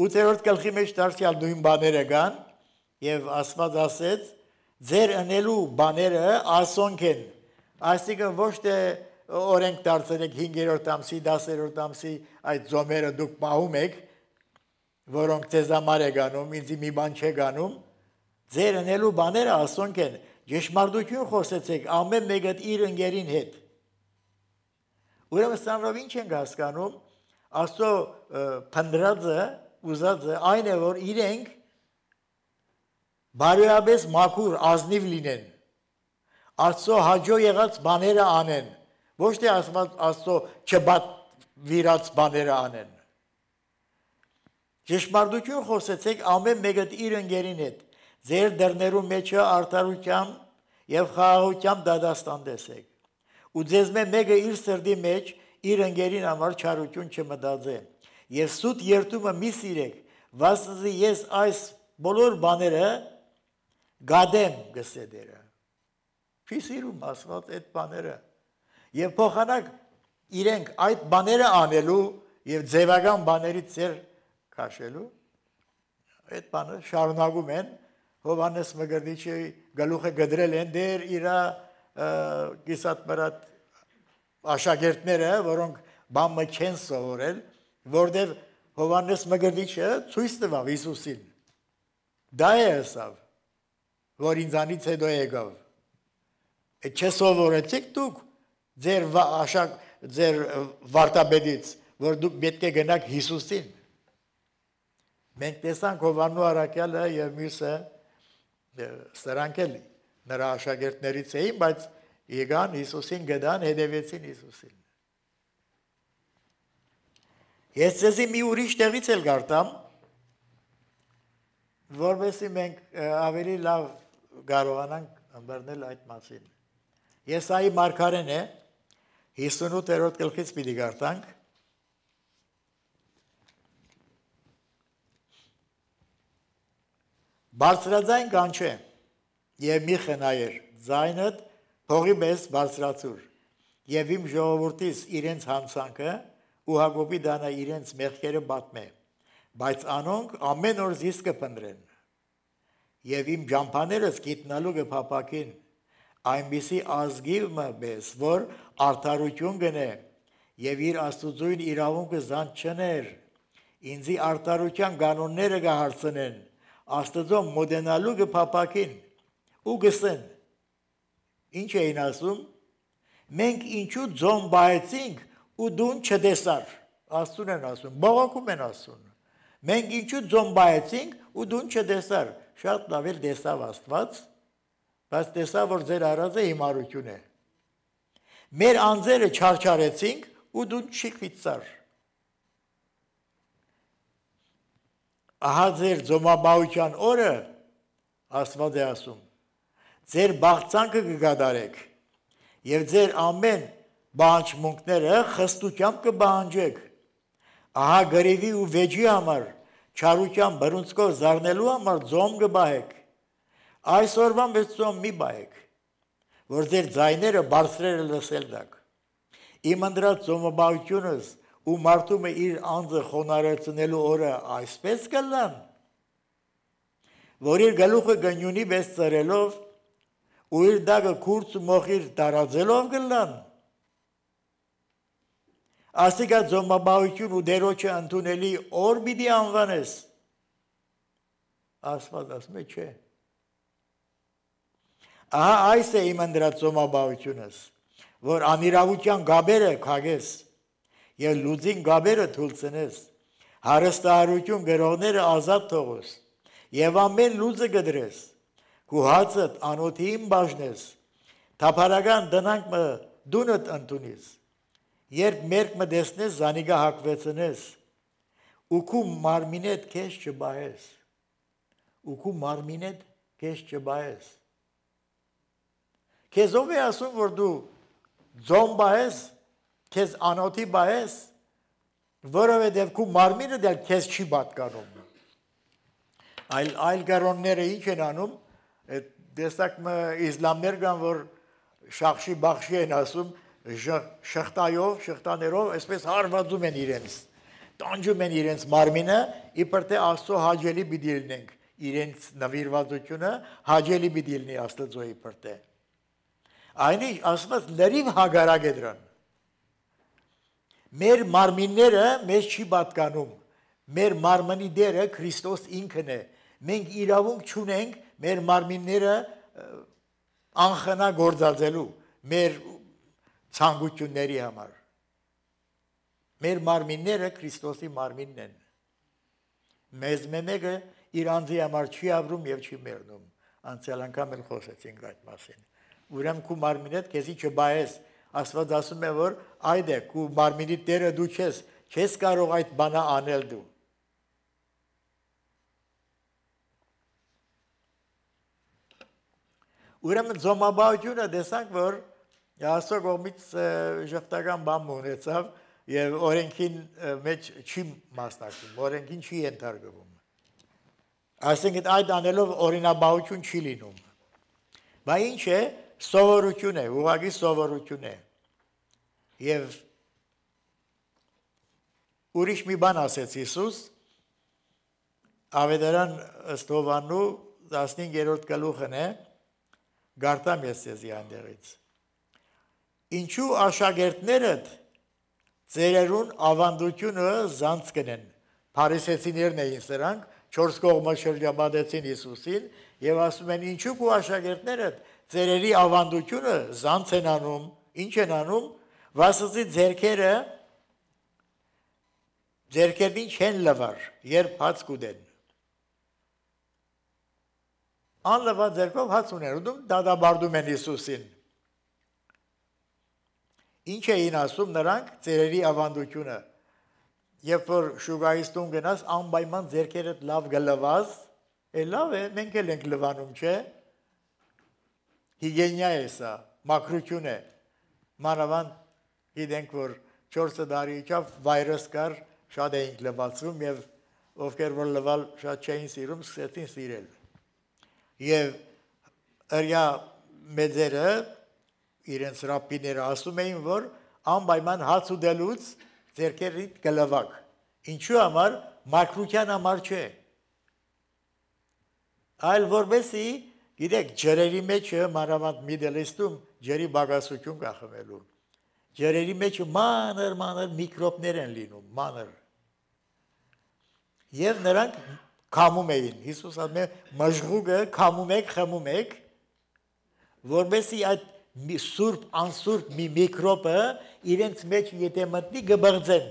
8-րդ գլխի մեջ դարձյալ նույն բաները կան եւ Աստված ասեց ձեր ընելու բաները ասոնք են, այսինքն ոչ թե օրենք դարձել եք 5-րդ ամսի, 10-րդ ամսի այդ ձոմերը դուք պահում եք, որոնք ձեզ համար է գանում, ինձ մի բան չէ գանում, ձեր ընելու բաները ասոնք են, ճշմարտություն խոսեցեք ամեն մեկը իր ընկերին հետ։ Ուրեմն սրանով ինչ ենք հասկանում, Աստծո փնդրածը, ուզածը այն է, որ իրենք բարոյաբես մաքուր ազնիվ լինեն, Աստծո հաջո եղած բաները անեն, ոչ թե Աստծո չբատվիրած բաները անեն։ Ճշմարտություն խոսեցեք ամեն մեկը իր ընկերին հետ, ձեր դռներու մեջը արդարությամբ եւ խաղաղությամբ դադաստան տեսեք։ Ու ձեզ մեկը իր սրդի մեջ իր ընկերին համար չարություն չմտածե։ Եվ սուտ երթումը մի սիրեք, վասնզի ես այս բոլոր բաները գադեմ գսե դերը։ Չի սիրում Աստված այդ բաները։ Եվ փոխանակ իրենք այդ բաները անելու եւ ձևական բաներից ծեր քաշելու այդ բանը շարունակում են Հովհաննես Մկրտիչի գլուխը գդրել են դեր իրա կիսատմրատ աշակերտները, որոնք բամը չեն սովորել, որտեղ Հովհաննես Մկրտիչը ցույց տվավ Հիսուսին։ Դա է ասավ, որ ինձանից հետո եկավ։ Չսովորեցիք դուք ձեր վարտաբեդից, որ դուք պետք է գնաք Հիսուսին։ Մենք տեսանք Հովհաննու առաքյալը եւ մյուսը սրանք էլ նրա աշակերտներից էին, բայց եկան Հիսուսին գտան, հետևեցին Հիսուսին։ Ես ձեզի մի ուրիշ տեղից էլ կարդամ, որովհետեւ մենք ավելի լավ կարողանանք ըմբռնել այդ մասին։ Եսայի մարգարեն է 58-րդ գլխից պիտի կարդանք։ բարձրաձայն կանչե եւ մի խնայեր ձայնդ փողի պես բարձրացուր եւ իմ ժողովրդից իրենց հանցանքը ու Հակոբի դանա իրենց մեղքերը պատմե բայց անոնք ամեն օր զիս կփնտրեն եւ իմ ջամփաներս գիտնալու կփապակին այնպիսի ազգիվը պես որ արդարություն գնե եւ իր աստուծույն իրավունքը զանց չներ ինձի արդարության կանոնները կհարցնեն աստծո մոդենալու կփապակին ու գսեն ինչ էին ասում մենք ինչու ձոն բայեցինք ու դուն չտեսար աստուն են ասում բողոքում են ասում մենք ինչու ձոն բայեցինք ու դուն չտեսար շատ լավ էլ տեսավ Աստված բայց տեսավ որ ձեր արածը հիմարություն է մեր անձերը չարչարեցինք ու դու չիքվիցար ահա ձեր ձոմաբաության օրը Աստված է ասում ձեր բաղցանքը կգադարեք եւ ձեր ամեն բանջմունքները խստությամբ կբանջեք ահա գրիվի ու վեճի համար չարության բռունցքով զարնելու համար ձոմ կբահեք այսօրվան պես ձոմ մի բայեք որ ձեր ձայները բարձրերը լսել դակ իմ ընդրած ձոմաբաությունս ու մարդումը իր անձը խոնարհեցնելու օրը այսպես կլան որ իր գլուխը գնյունի պես ծրելով ու իր դագը քուրց ու մոխիր տարածելով կլան ասիկա ձոմաբաություն ու դերոջը ընդունելի օր պիտի անվանես Աստված ասում է չէ ահա այս է իմ ընդրած ձոմաբաությունս որ անիրավության գաբերը քագես եւ լուծին գաբերը թույլցնես հարստահարություն գրողները ազատ թողես եւ ամեն լուծը գդրես քու հացդ անոթին բաժնես թափարական դնանք դունդ ընդունիս երբ մերկ մտեսնես զանիգա հակվեցնես ու քու մարմինեդ քեզ չբահես ու քու մարմինեդ քեզ չբահես քեզ ով է ասում որ դու ձոմ բահես քեզ անոթի բահես որովհետև քու մարմինը դեռ քեզ չի պատկանում այլ գարոնները ինչ են անում տեսակ իսլամներ կան որ շախշի բախշի են ասում շղթաներով այսպես հարվածում են իրենց տանջում են իրենց մարմինը իբր թե Աստծո հաճելի պիտի լինենք իրենց նվիրվածությունը հաճելի պիտի լինի Աստծո իբր թե Այնինչ ասված լրիվ հագարակ է դրան մեր մարմինները մեզ չի պատկանում մեր մարմնի դերը Քրիստոս ինքն է մենք իրավունք չունենք մեր մարմինները անխնա գործածելու մեր ցանկությունների համար մեր մարմինները Քրիստոսի մարմինն են մեզ մեկը իր անձի համար չի ապրում եւ չի մեռնում անցյալ անգամ էլ խոսեցինք այդ մասին ուրեմն քու մարմինդ քեզի չբայես Աստված ասում է որ այդ է քու մարմինի տերը դու չես կարող այդ բանը անել դու ուրեմն ձոմաբաությունը տեսանք որ Աստծո կողմից ժխտական բան ունեցավ եւ օրենքին մեջ չի մասնակցում օրենքին չի ենթարկվում այսինքն այդ անելով օրինաբաություն չի լինում բա ինչ է սովորություն է ուղղակի սովորություն է եւ ուրիշ մի բան ասեց Հիսուս Ավետարան ըստ Հովհաննու 15-րդ գլուխն է գարտամ ես ձեզի այնտեղից Ինչու աշակերտներդ ծերերուն ավանդությունը զանց կնեն Փարիսեցիներն էին սրանք 4 կողմը շրջապատեցին Հիսուսին եւ ասում են ինչու քու աշակերտներդ ծերերի ավանդությունը զանց են անում ինչ են անում վասզի ձերքերին չեն լվար երբ հաց կուտեն անլվա ձերքով հաց ունեն ուտում դադաբարդում են Հիսուսին Ինչ էին ասում նրանք ծերերի ավանդությունը երբ որ շուգայից տուն գնաս անպայման ձերքերդ լավ գլվաս լավ է մենք էլ ենք լվանում չէ հիգիենա է սա մաքրություն է մանավանդ գիտենք որ 4 տարի իջավ վայրս կար շատ էինք լվացում եւ ովքեր որ լվալ շատ չէին սիրում սկսեցին սիրել եւ ըրյա մեծերը իրենց ռաբբիները ասում էին, որ անպայման հաց ուտելուց ձեռքերիդ կլվակ։ Ինչու համար մաքրության համար չէ։ Այլ որբեսի գիտեք ջրերի մեջ մանավանդ Միդլեստում ջրի բագասություն կա խմելու։ Ջրերի մեջ մանր միկրոբներ են լինում, մանր։ Եվ նրանք քամում էին։ Հիսուս ասում է մժղուկը քամում եք, խմում եք, որբեսի այդ սուրբ անսուրբ մի միկրոբը իրենց մեջ եթե մտնի կբղձեն։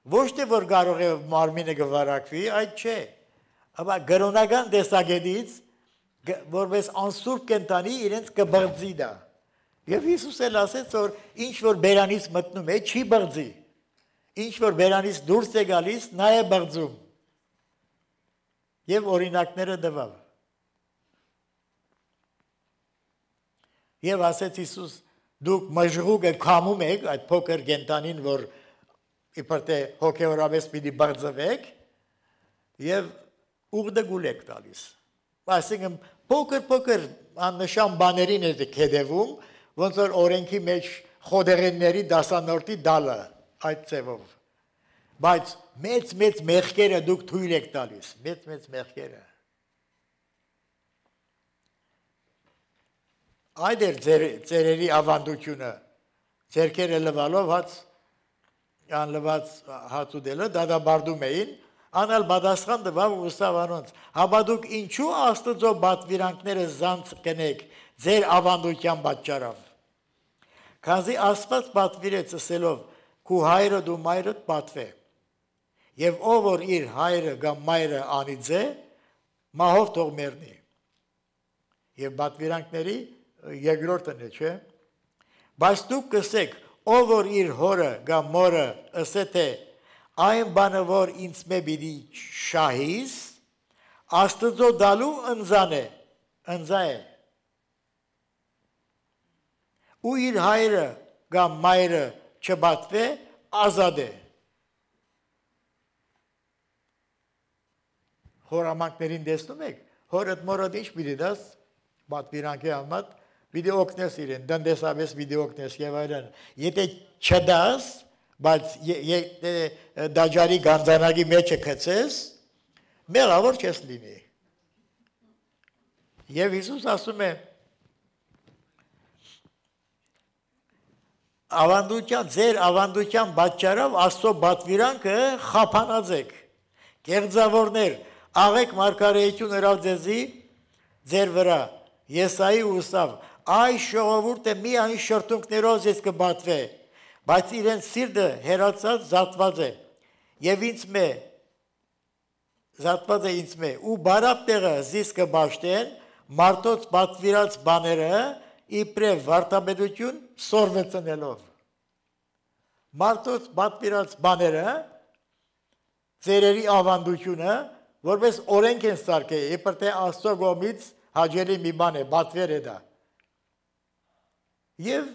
Ոչ թե որ կարող է մարմինը կվարակվի, այդ չէ։ Ապա գրոնական տեսակետից որպես անսուրբ կենտանի իրենց կբղձի դա։ Եվ Հիսուս էլ ասեց, որ ինչ որ բերանից մտնում է, չի բղձի։ Ինչ որ բերանից դուրս է գալիս, նա է բղձում։ Եվ օրինակները տվավ։ Եվ ասեց Հիսուս, դուք մժղուկը քամում եք, այդ փոքր կենտանին, որ իբր թե հոգեորապես պիտի բղձվեք, եւ ուղդգուլ եք տալիս։ Այսինքն փոքր աննշան բաներին եք հետևում, ոնց որ օրենքի մեջ խոդեղենների դասանորդի դալը այդ ձևով։ Բայց մեծ մեղքերը դուք թույլ եք տալիս, մեծ մեղքերը։ Այդ էր ծերերի ավանդությունը, ձերքերը լվալով անլված հաց ուտելը դադարում էին, անալ պատասխան տվավ ու ուսավ անոնց, հապա դուք ինչու Աստծո պատվիրանքները զանց կնեք ձեր ավանդության պատճառով։ Քանզի Աստված պատվիրեց ասելով, քու հայրը դու մայրդ պատվե։ Եվ ով որ իր հայրը կամ մայրը անիծե, մահով թող մեռնի։ Եվ պատվիրանքների երկրորդն է, չէ՞։ Բայց դուք կսեք, ով որ իր հորը կամ մորը ասե թե այն բանը որ ինձ մե պիտի շահիս, Աստծո դալու ընձա է։ Ու իր հայրը կամ մայրը չպատվե, ազատ է։ Հորամանկներին տեսնում եք, հորդ մորդ ինչ պիտի դաս, պատվիրանքի համար, պիտի օգնես իրեն, դնդեսապես պիտի օգնես եւ այլն։ Եթե չդաս, բայց դաջարի գանձանակի մեջը գցես, մեղավոր չես լինի։ Եվ Հիսուս ասում է, ձեր ավանդության պատճառով Աստծո պատվիրանքը խափանած եք։ Կեղծավորներ, աղեք մարգարեություն հրավ ձեզի ձեր վրա, Եսայի ուսավ, այս ժողովուրդը միայն շրթունքներով ես կբատվե, բայց իրենց սիրտը հերացած զատված է, եւ զատված է ինձ մե, ու բարապ տեղը զիս կբաշտեն, մարդոց պատվիրած բաները, իբրև վարդապետություն սորվեցնելով։ Մարդոց պատվիրած բաները, ծերերի ավանդությունը, որպես օրենք են սարքել, իբր թե Աստծո կողմից հաջելի մի բան է, պատվեր է դա։ Եվ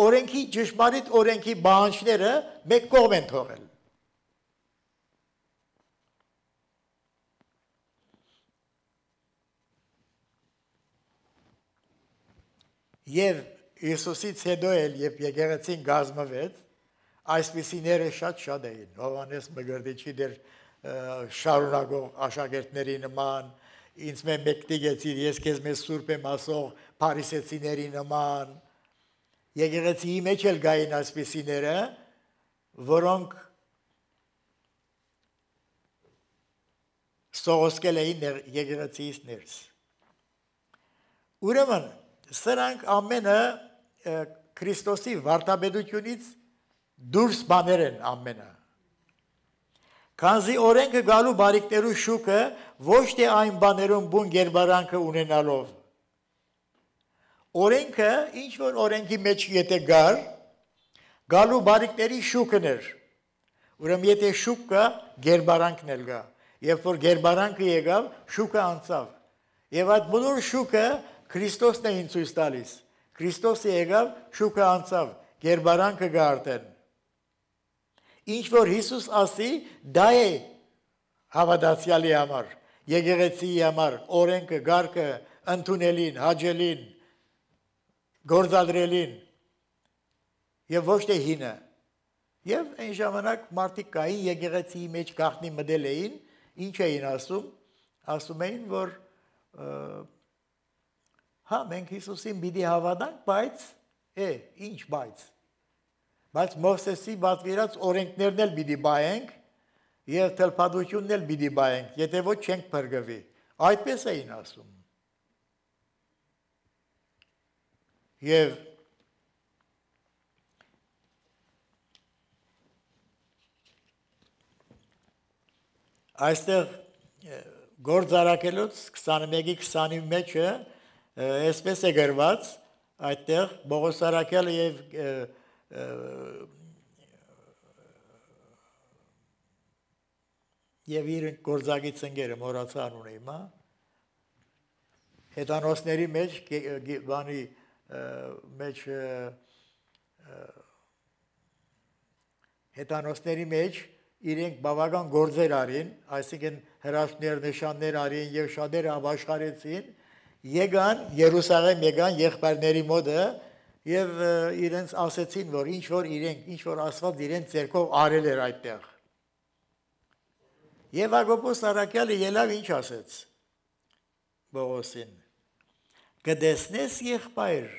օրենքի ճշմարիտ օրենքի բանջները մեկ կողմ են թողել։ Եվ Հիսուսից հետո էլ, երբ եկեղեցին կազմվեց, այսպիսիները շատ էին, Հովհաննես Մկրտիչի դեր շարունակող աշակերտների նման, ինձ մեկ տիգեցիր, ես քեզ մեզ սուրբ եմ ասող փարիսեցիների նման, եկեղեցիի մեջ էլ գային այսպիսիները, որոնք սողոսկել էին եկեղեցիից ներս։ Ուրեմն, սրանք ամենը Քրիստոսի վարդապետությունից դուրս բաներ են ամենը։ Քանզի օրենքը գալու բարիքներու շուկը ոչ թե այն բաներում բուն գերբարանքը ունենալով։ Օրենքը, ինչ որ օրենքի մեջ եթե գալու բարիքների շուկն էր։ Ուրեմն եթե շուկ կա, գերբարանքն էլ կա։ Երբ որ գերբարանքը եկավ, շուկը անցավ։ Եվ այդ բոլոր շուկը Քրիստոսն է ինձ ցույց տալիս։ Քրիստոսը եկավ, շուկը անցավ, գերբարանքը գա արդեն։ Ինչ որ Հիսուս ասի, դա է հավատացյալի համար։ եկեղեցիի համար օրենքը, գարկը ընդունելին, հաջելին, գործադրելին եւ ոչ թե հինը։ Եւ այն ժամանակ մարդիկ կային եկեղեցիի մեջ գաղտնի մտել էին, ինչ էին ասում, ասում էին, որ հա մենք Հիսուսին պիտի հավատանք, բայց ինչ բայց Մովսեսի պատվիրած օրենքներն էլ պիտի բայենք եւ թլփատությունն էլ պիտի բայենք, եթե ոչ չենք փրկվի։ Այդպես էին ասում։ Եվ այստեղ գործարակելուց 21-ի 20-ի մեջը այսպես է գրված, այդտեղ Պողոս Արաքյալը եւ իր գործագից ընկերը մոռացա անունը հիմա հետանոսների մեջ բանի մեջ հետանոսների մեջ իրենք բավական գործեր արին, այսինքն հրաշքներ, նշաններ արին եւ շատերը ապաշխարեցին, եկան Երուսաղեմ եկան եղբայրների մոտը եւ իրենց ասեցին, որ ինչ որ Աստված իրենց ձեռքով արել էր այդտեղ։ Եվ Հակոբոս Արաքյալը ելավ ինչ ասեց Պողոսին. «Կտեսնես եղբայր,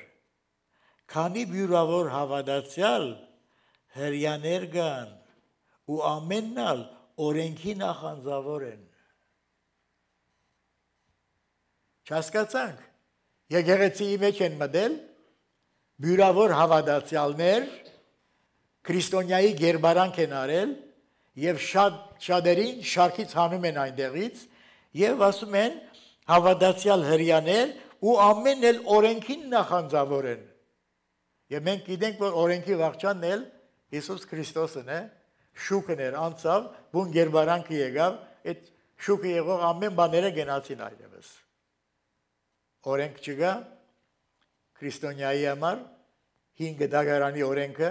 քանի բյուրավոր հավատացյալ հրյաներ կան ու ամենն ալ օրենքի նախանձավոր են»։ Չհասկացանք, եկեղեցիի մեջ են մտել բյուրավոր հավատացյալներ, քրիստոնյայի գերբարանք են արել եւ շատերին շարքից հանում են այնտեղից եւ ասում են հավատացյալ հրյաներ ու ամենն էլ օրենքին նախանձավոր են։ Եվ մենք գիտենք, որ օրենքի վաղճանն էլ Հիսուս Քրիստոսն է, շուկն էր անցավ, բուն գերբարանքը եկավ, այդ շուկը եղող ամեն բաները գնացին այլևս։ Օրենք չկա քրիստոնյայի համար, 5 դագարանի օրենքը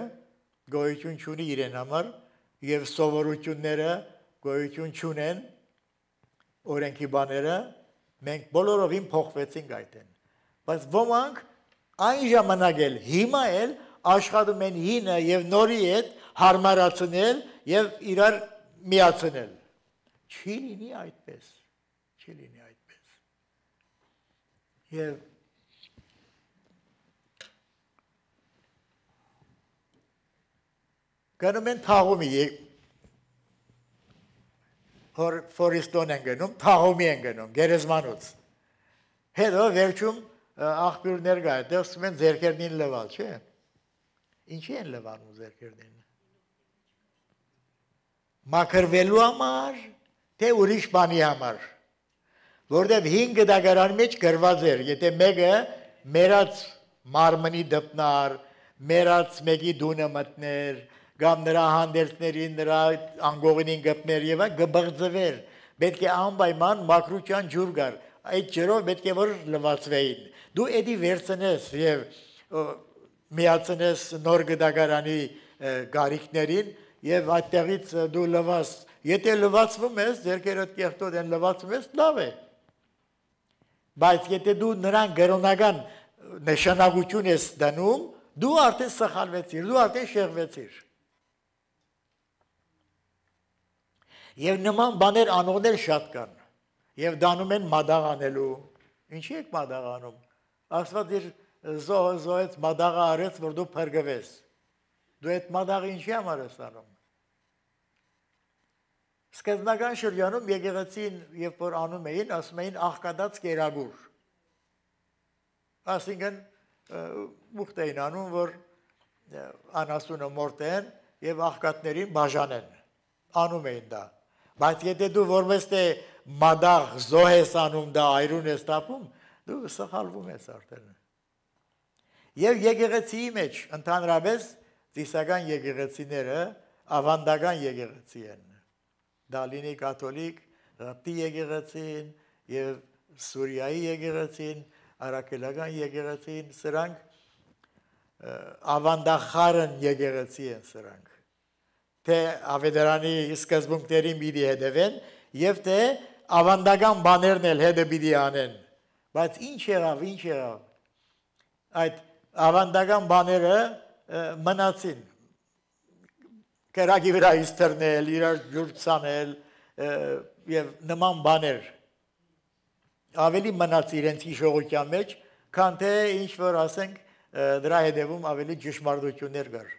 գոյություն չունի իրեն համար եւ սովորությունները գոյություն չունեն, օրենքի բաները մենք բոլորովին փոխվեցինք այդեն։ Բայց ոմանք այն ժամանակ էլ հիմա էլ աշխատում են հինը եւ նորի հետ հարմարացնել եւ իրար միացնել։ Չի լինի այդպես։ Եվ գնում են թաղումի Ֆորիստոն են գնում, թաղումի են գնում, գերեզմանուց։ Հետո վերջում աղբյուրներ կա, այդտեղ ասում են ձեռքերնին լվալ, չէ՞։ Ինչի են լվանում ձեռքերնին։ Մաքրվելու համար, թե ուրիշ բանի համար։ Որտեւ 5 դագարանի մեջ գրված էր, եթե մեկը մերած մարմնի դպնար, մերած մեկի դունը մտներ, կամ նրա հանդերձներին, նրա անգողինին գպներ եւ գբղձվեր, պետք է անպայման մաքրության ջուր գար, այդ ջրով պետք է որ լվացվեին։ Դու էդի վերցնես եւ միացնես նոր գդագարանի գարիքներին եւ այդտեղից դու լվաս, եթե լվացվում ես, ձերքերդ կեղտոտ են լվացվում ես, լավ է։ Բայց եթե դու նրան գրոնական նշանակություն ես դնում, դու արդեն սխալվեցիր, դու արդեն շեղվեցիր։ Եվ նման բաներ անողներ շատ կան, եւ դանում են մադաղ անելու, ինչի եք մադաղ անում, Աստված իր զոհը զոհեց, մադաղը արեց, որ դու փրկվես, դու այդ մադաղը ինչի համար ես անում։ Սկզբնական շրջանում եկեղեցին, երբ որ անում էին, ասում էին աղքատած կերագուր, այսինքն ուխտ էին անում, որ անասունը մորտեն եւ աղքատներին բաժանեն, անում էին դա։ Բայց եթե դու որպես թե մադաղ զոհ ես անում, դա այրուն ես տապում, դու սխալվում ես արդեն։ Եվ եկեղեցիի մեջ ընդհանրապես ծիսական եկեղեցիները ավանդական եկեղեցի են։ Դա լինի կաթոլիկ, ռապտի եկեղեցին եւ Սուրիայի եկեղեցին, արաքելական եկեղեցին, սրանք ավանդախարն եկեղեցի են սրանք։ Թե ավետարանի սկզբունքներին պիտի հետևեն եւ թե ավանդական բաներն էլ հետը պիտի անեն, բայց ինչ եղավ, այդ ավանդական բաները մնացին, կերակի վրա իստրնել, իրար ջուր ցանել եւ նման բաներ ավելի մնաց իրենց հիշողության մեջ, քան թե ինչ որ ասենք դրա հետևում ավելի ճշմարտություններ կար։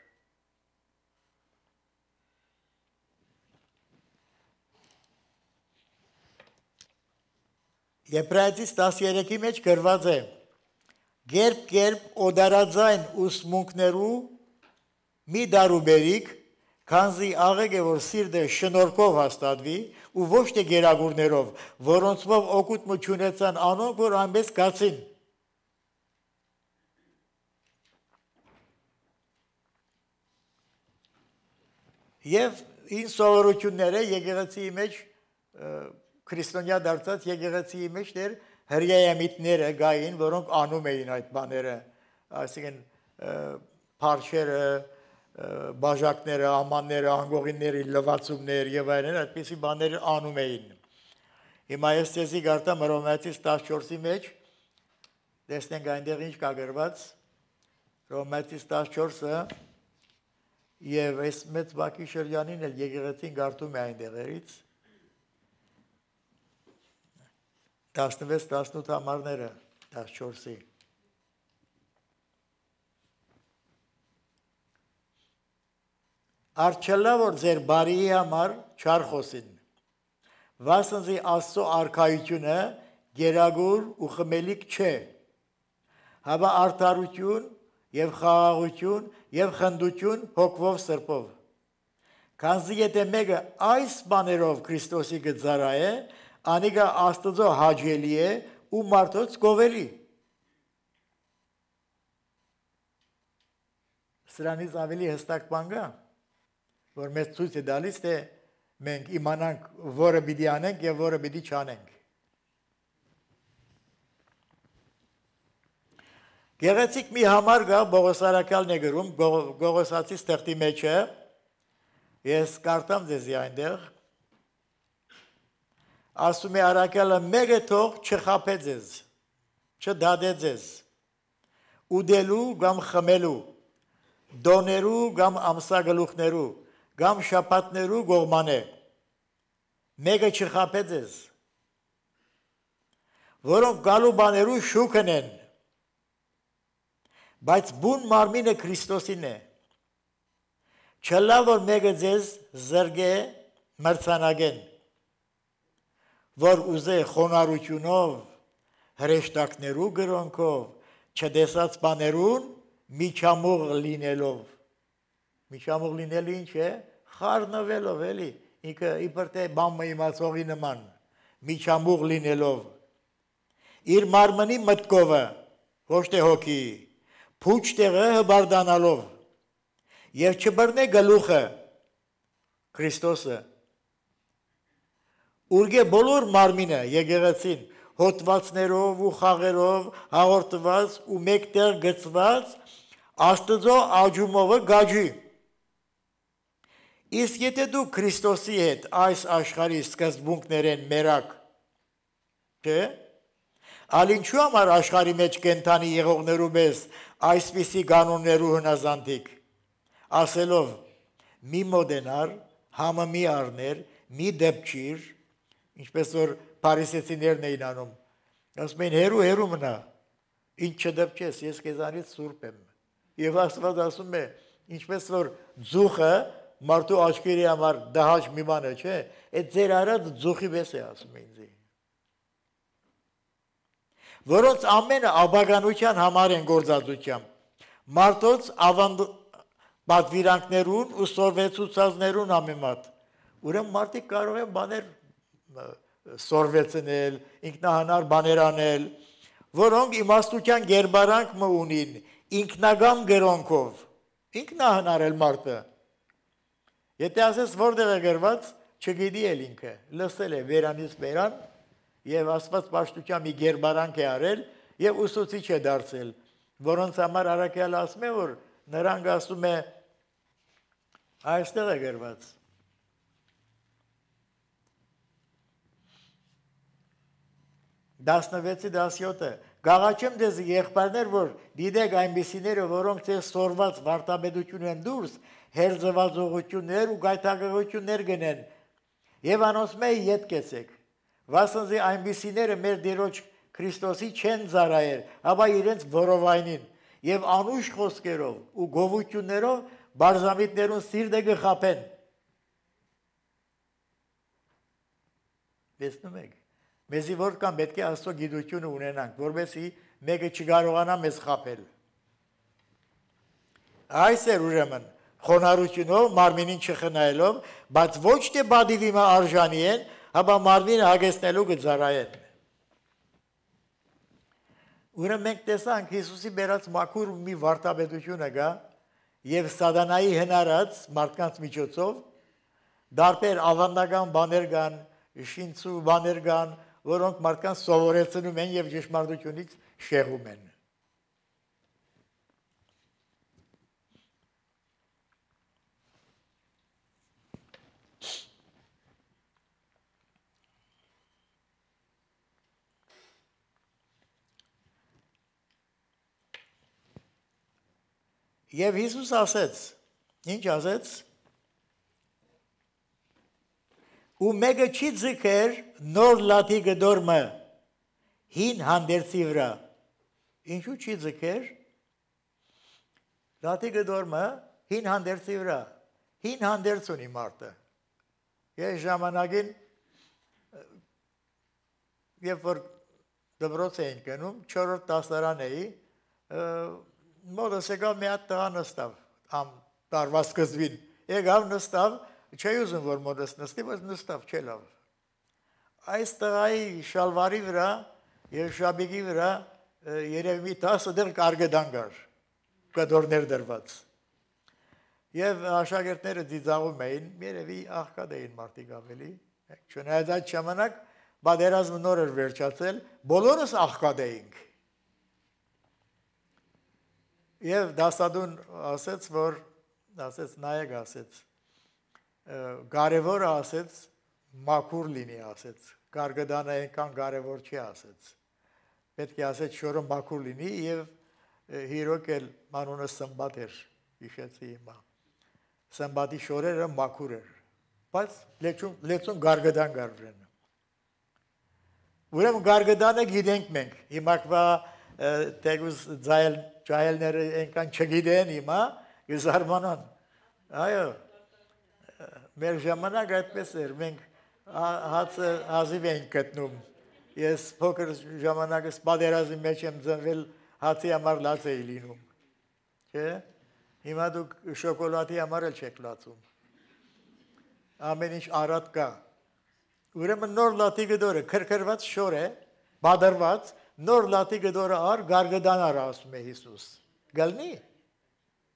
Եբրայեցիս 13-ի մեջ գրված է. Գերբ օդարաձայն ուսմունքներու մի դարուբերիկ, քանզի աղեկ է, որ սիրտը շնորհքով հաստատվի ու ոչ թե գերագուրներով, որոնցով օգուտ չունեցան անոնք, որ այնպես կացին։ Եվ ինչ սովորությունները եկեղեցիի մեջ քրիստոնյա դարձած եկեղեցիի մեջ դեր հրյայամիտները գային, որոնք անում էին այդ բաները, այսինքն փարչերը, բաժակները, ամանները, անգողիների լվացումներ եւ այլն, այդպիսի բաներ անում էին։ Հիմա ես ցեզի գարտամ Հռոմեացիս 14-ի մեջ, տեսնենք այնտեղ ինչ կա գրված, Հռոմեացիս 14-ը եւ այս մեծ բակի շրջանին էլ եկեղեցին գարտում է այնտեղերից 16-18 համարները 14-ի Արջելա որ ձեր բարիի համար չար խոսին վասնզի Աստծո արքայությունը գերագուր ու խմելիք չէ հավա արդարություն եւ խաղաղություն եւ խնդություն հոգվով սրբով քանզի եթե մեկը այս բաներով Քրիստոսի գծարայ անիկա Աստծո հաճելի է ու մարդոց գովելի սրանից ավելի հստակ բան կա որ մեզ ցույց է տալիս թե մենք իմանանք որը պիտի անենք եւ որը պիտի չանենք Գեղեցիկ մի համար կա Բողոսարակալն է գրում Գողոսացի ստեղծի մեջ է ես կարդամ ձեզի այնտեղ ասում է արակալը մեկը թող չխափե ձեզ չդադե ձեզ ուդելու կամ խմելու դոներու կամ ամսագլուխներու կամ շապատներու գողմանե մեկը չխափե ձեզ որոնք գալու բաներու շուքն են բայց բուն մարմինը Քրիստոսին է չլա որ մեկը ձեզ զրգե մրցանակեն որ ուզե խոնարհությունով հրեշտակներու գրոնքով չդեսած բաներուն միջամուղ լինելով միջամուղ լինելը ինչ է խառնվելով էլի ինքը իբր թե բամը իմացողի նման միջամուղ լինելով իր մարմնի մտքովը ոչ թե հոգի փուչ տեղը հբարդանալով եւ չբռնե գլուխը Քրիստոսը Ուրգե բոլոր մարմինը եկեղեցին հոտվածներով ու խաղերով հաղորդված ու մեկտեղ գծված Աստծո աջումովը գաջի Իսկ եթե դու Քրիստոսի հետ այս աշխարհի սկզբունքներեն մերակ չէ Ալինչու համար աշխարհի մեջ կենթանի եղողներու մեզ այսպիսի կանոններու հնազանդիկ ասելով մի մոդենար համը մի առներ մի դեպչիր ինչպես որ փարիսեցիներն էին անում ասում են հերու մնա ինչ չդեպչես ես քեզանից սուրբ եմ եւ Աստված ասում է ինչպես որ ձուխը մարդու աչքերի համար դահաճ մի բան է չէ այդ ձեր արած ձուխի վես է ասում ինձ որոնց ամենը աբականության համար են գործածությամբ մարդոց պատվիրանքներուն ու սորվեցուցածներուն համեմատ ուրեմն մարդիկ կարող են բաներ սորվեցնել ինքնահանար բաներ անել որոնք իմաստության գերբարանք մը ունին ինքնագամ գրոնքով ինքնահանարել մարդը եթե ասես որտեղ է գրված չգիտի էլ ինքը լսել է վերանից վերան եւ Աստված պաշտության մի գերբարանք է արել եւ ուսուցիչ է դարձել որոնց համար Արաքյալը ասում է որ նրանք ասում է այստեղ է գրված 16-17 Գաղաչեմ դեզ եղբայրներ, որ դիտեք այնպիսիները, որոնք ձեզ սորված վարտաբեդություն են դուրս, հերձվածողություններ ու գայթակղություններ գնեն, եւ անոնց մեյ ետ կեցեք, վասնզի այնպիսիները մեր Տիրոջ Քրիստոսի չեն զարայեր, ապա իրենց որովայնին, եւ անուշ խոսքերով ու գովություններով բարձամիտներուն սիրտը գխապեն։ Տեսնում եք, մեզի որքան պետք է Աստծո գիտությունը ունենանք, որովհետեւ մեկը չկարողանա մեզ խաբել։ Այս է ուրեմն խոնարհությունով մարմինին չխնայելով, բայց ոչ թե բադիվիմը արժանի են, ապա մարմինը հագեցնելու կծարայեն։ Ուրեմն մենք տեսանք Հիսուսի բերած մաքուր մի վարտաբեդությունը կա եւ սատանայի հնարած մարդկանց միջոցով դարբեր ավանդական բաներ կան, շինցու բաներ կան, որոնք մարդկանց սովորեցնում են եւ ճշմարտությունից շեղում են։ Եվ Հիսուս ասեց, ինչ ասեց, ու մեկը չի ձգեր նոր լաթի գդորմը հին հանդերձի վրա, ինչու չի ձգեր, լաթի գդորմը հին հանդերձի վրա, հին հանդերձ ունի մարդը, ես ժամանակին, երբ որ դպրոց էին գնում, 4-րդ դասարան էի, մոտս եկավ մի հատ տղա նստավ, տարվա սկզբին, եկավ նստավ, չէի ուզում, որ մոտս նստի, բայց նստավ, չէ լավ։ Այս տղայի շալվարի վրա և շաբիկի վրա երևի մի 10 դեղ կարգդան կար, կդորներ դրված։ Եվ աշակերտները ծիծաղում էին, երևի աղքատ էին մարդիկ ավելի, չնայած այդ ժամանակ պատերազմը նոր էր վերջացել, բոլորս աղքատ էինք։ Եվ դասադուն ասեց, որ, ասեց, նայեք ասեց, կարևորը ասեց, մաքուր լինի ասեց, կարգդանը այնքան կարևոր չի ասեց, պետք է ասեց շորը մաքուր լինի և հիրոք էլ մանունը սմբատ էր, իշեցի հիմա, սմբատի շորերը մաքուր էր, բայց լեցուն կարգդան կարվրեն։ Ուրեմն կարգդանը գիտենք մենք, հիմակվա տեգուզ ճայելները ենքան չգիտեն հիմա, գզարմանան, այո, մեր ժամանակ այդպես էր, մենք հացը հազիվ էինք գտնում, ես փոքր ժամանակս պատերազմի մեջ եմ ծնվել, հացի համար լաց էի լինում, չէ, հիմա դուք շոկոլադի համար էլ չեք լացում, ամեն ինչ առատ կա, ուրեմն նոր լատի գդորը քրքրված շոր է, բادرված, նոր լատի գդորը առ գարգդան առ ասում է Հիսուս, գալնի,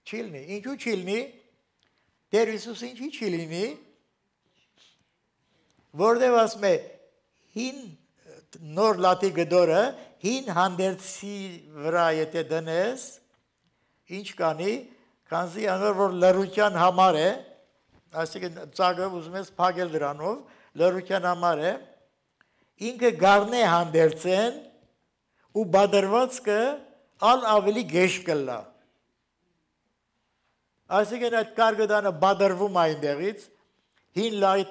չի լինի, ինչու չի լինի, Տեր Հիսուս ինչի չի լինի, որտև ասում է, հին նոր լատի գդորը, հին հանդերձի վրա եթե դնես, ինչ կանի, քանզի անոր որ լրության համար է, այսինքն ծագը ուզում ես փակել դրանով, լրության համար է, ինքը գարնե հանդերձեն ու բادرվածքը ալ ավելի գեշ կլա։ Այսինքն այդ կարգդանը բادرվում այնտեղից, հին լայտ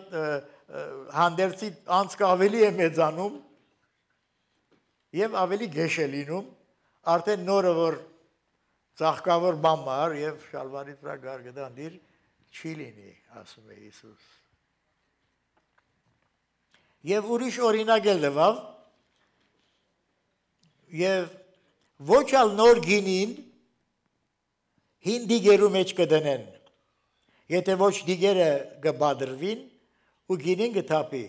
հանդերձի անցքը ավելի է մեծանում և ավելի գեշ է լինում, արդեն նորը որ ծաղկավոր բամար և շալվարի վրա կարգդան դիր չի լինի, ասում է Հիսուս։ Եվ ուրիշ օրինակ էլ դվավ, և ոչ ալ նոր գինին հին դիգերու մեջ կդնեն, եթե ոչ դիգերը կբադրվին ու գինին կթապի,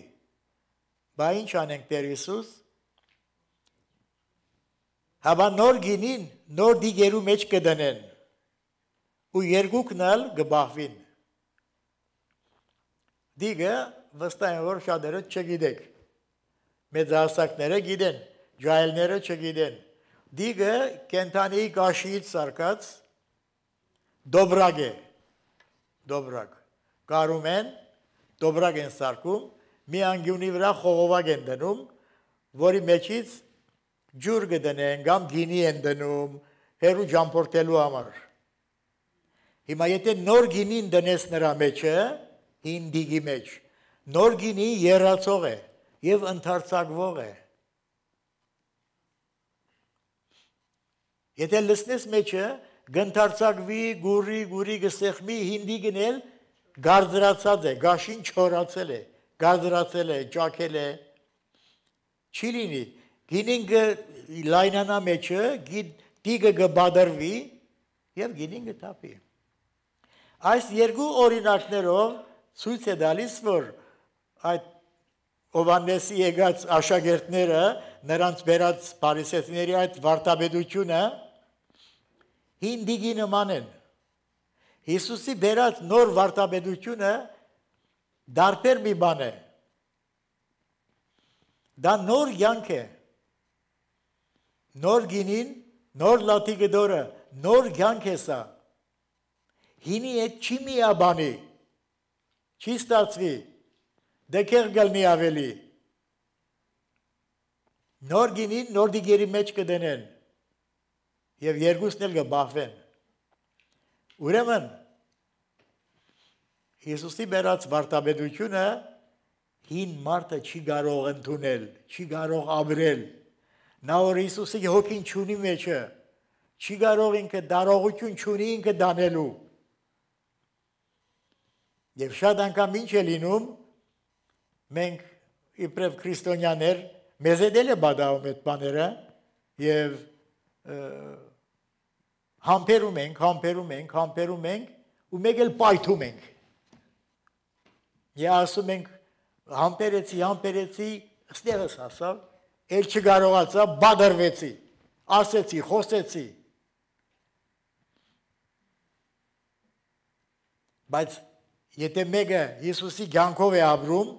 բա ինչ անենք Տեր Հիսուս, հաբա նոր գինին նոր դիգերու մեջ կդնեն ու երկուքն ալ կբահվին։ Դիգը վստահ եմ, որ շատերը չգիտեք, մեծահասակները գիտեն, ջահելները չգիտեն, դիգը կենթանի կաշիից սարկած դոբրակ է, դոբրակ, կարում են, դոբրակ են սարկում, մի անգյունի վրա խողովակ են դնում, որի մեջից ջուր կդնեն, կամ գինի են դնում, հերու ճամփորդելու համար։ Հիմա եթե նոր գինին դնես նրա մեջը, հին դիգի մեջ, նոր գինի երացող է եւ ընդարձակվող է։ Եթե լցնես մեջը, գընթարձակվի, գուրի գսեղմի, հին դիգն էլ գարձրացած է, գաշին չորացել է, գարձրացել է, ճաքել է, չի լինի, գինին լայնանա մեջը, դիգը գբադրվի եւ գինին գտապի։ Այս երկու օրինակներով ցույց է տալիս, որ այդ Հովհաննեսի եկած աշակերտները նրանց բերած փարիսեցիների այդ վարդապետությունը հին դիգի նման են։ Հիսուսի բերած նոր վարդապետությունը դարբեր մի բան է։ Դա նոր յանք է։ Նոր գինին, նոր լաթիկը դորը, նոր յանք է սա։ Հինի հետ չի միաբանի, չի ստացվի, դեկեղ գլնի ավելի։ Նոր գինին նոր դիգերի մեջ կդնեն և երկուսն էլ կբախվեն։ Ուրեմն, Հիսուսի բերած վարդապետությունը հին մարդը չի կարող ընդունել, չի կարող ապրել։ Նա որ Հիսուսի հոգին չունի մեջը, չի կարող ինքը դարողություն չունի ինքը դանելու։ Եվ շատ անգամ ինչ է լինում, մենք իբրև քրիստոնյաներ, մեզ էլ է բադաում այդ բաները և համբերում ենք ու մեկ էլ պայթում ենք։ Եվ ասում ենք համբերեցի, ստեղս ասավ, էլ չկարողացա, բادرվեցի, ասեցի, խոսեցի։ Բայց եթե մեկը Հիսուսի կյանքով է ապրում,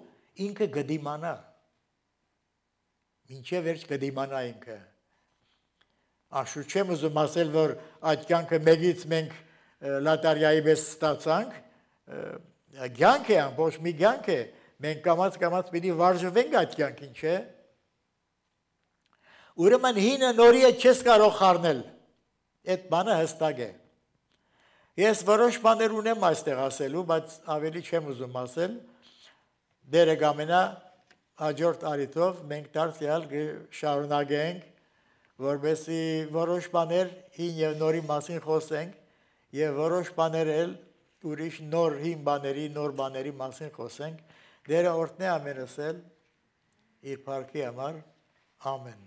ինքը կդիմանա։ Մինչև վերջ կդիմանա ինքը։ Աշու չեմ ուզում ասել, որ այդ կյանքը մեկից մենք լատարյայի պես ստացանք, կյանք է, ամբողջ մի կյանք է, մենք կամաց պիտի վարժվենք այդ կյանքին, չէ։ Ուրեմն հինը նորի հետ չես կարող խառնել, այդ բանը հստակ է։ Ես որոշ բաներ ունեմ այստեղ ասելու, բայց ավելի չեմ ուզում ասել, դերը կամենա հաջորդ առիթով մենք դարձյալ շարունակենք, որպեսզի որոշ բաներ հին և նորի մասին խոսենք և որոշ բաներ էլ ուրիշ նոր հին բաների, նոր բաների մասին խոսենք, դերը օրհնե ամենս էլ իր փառքի համար, ամեն։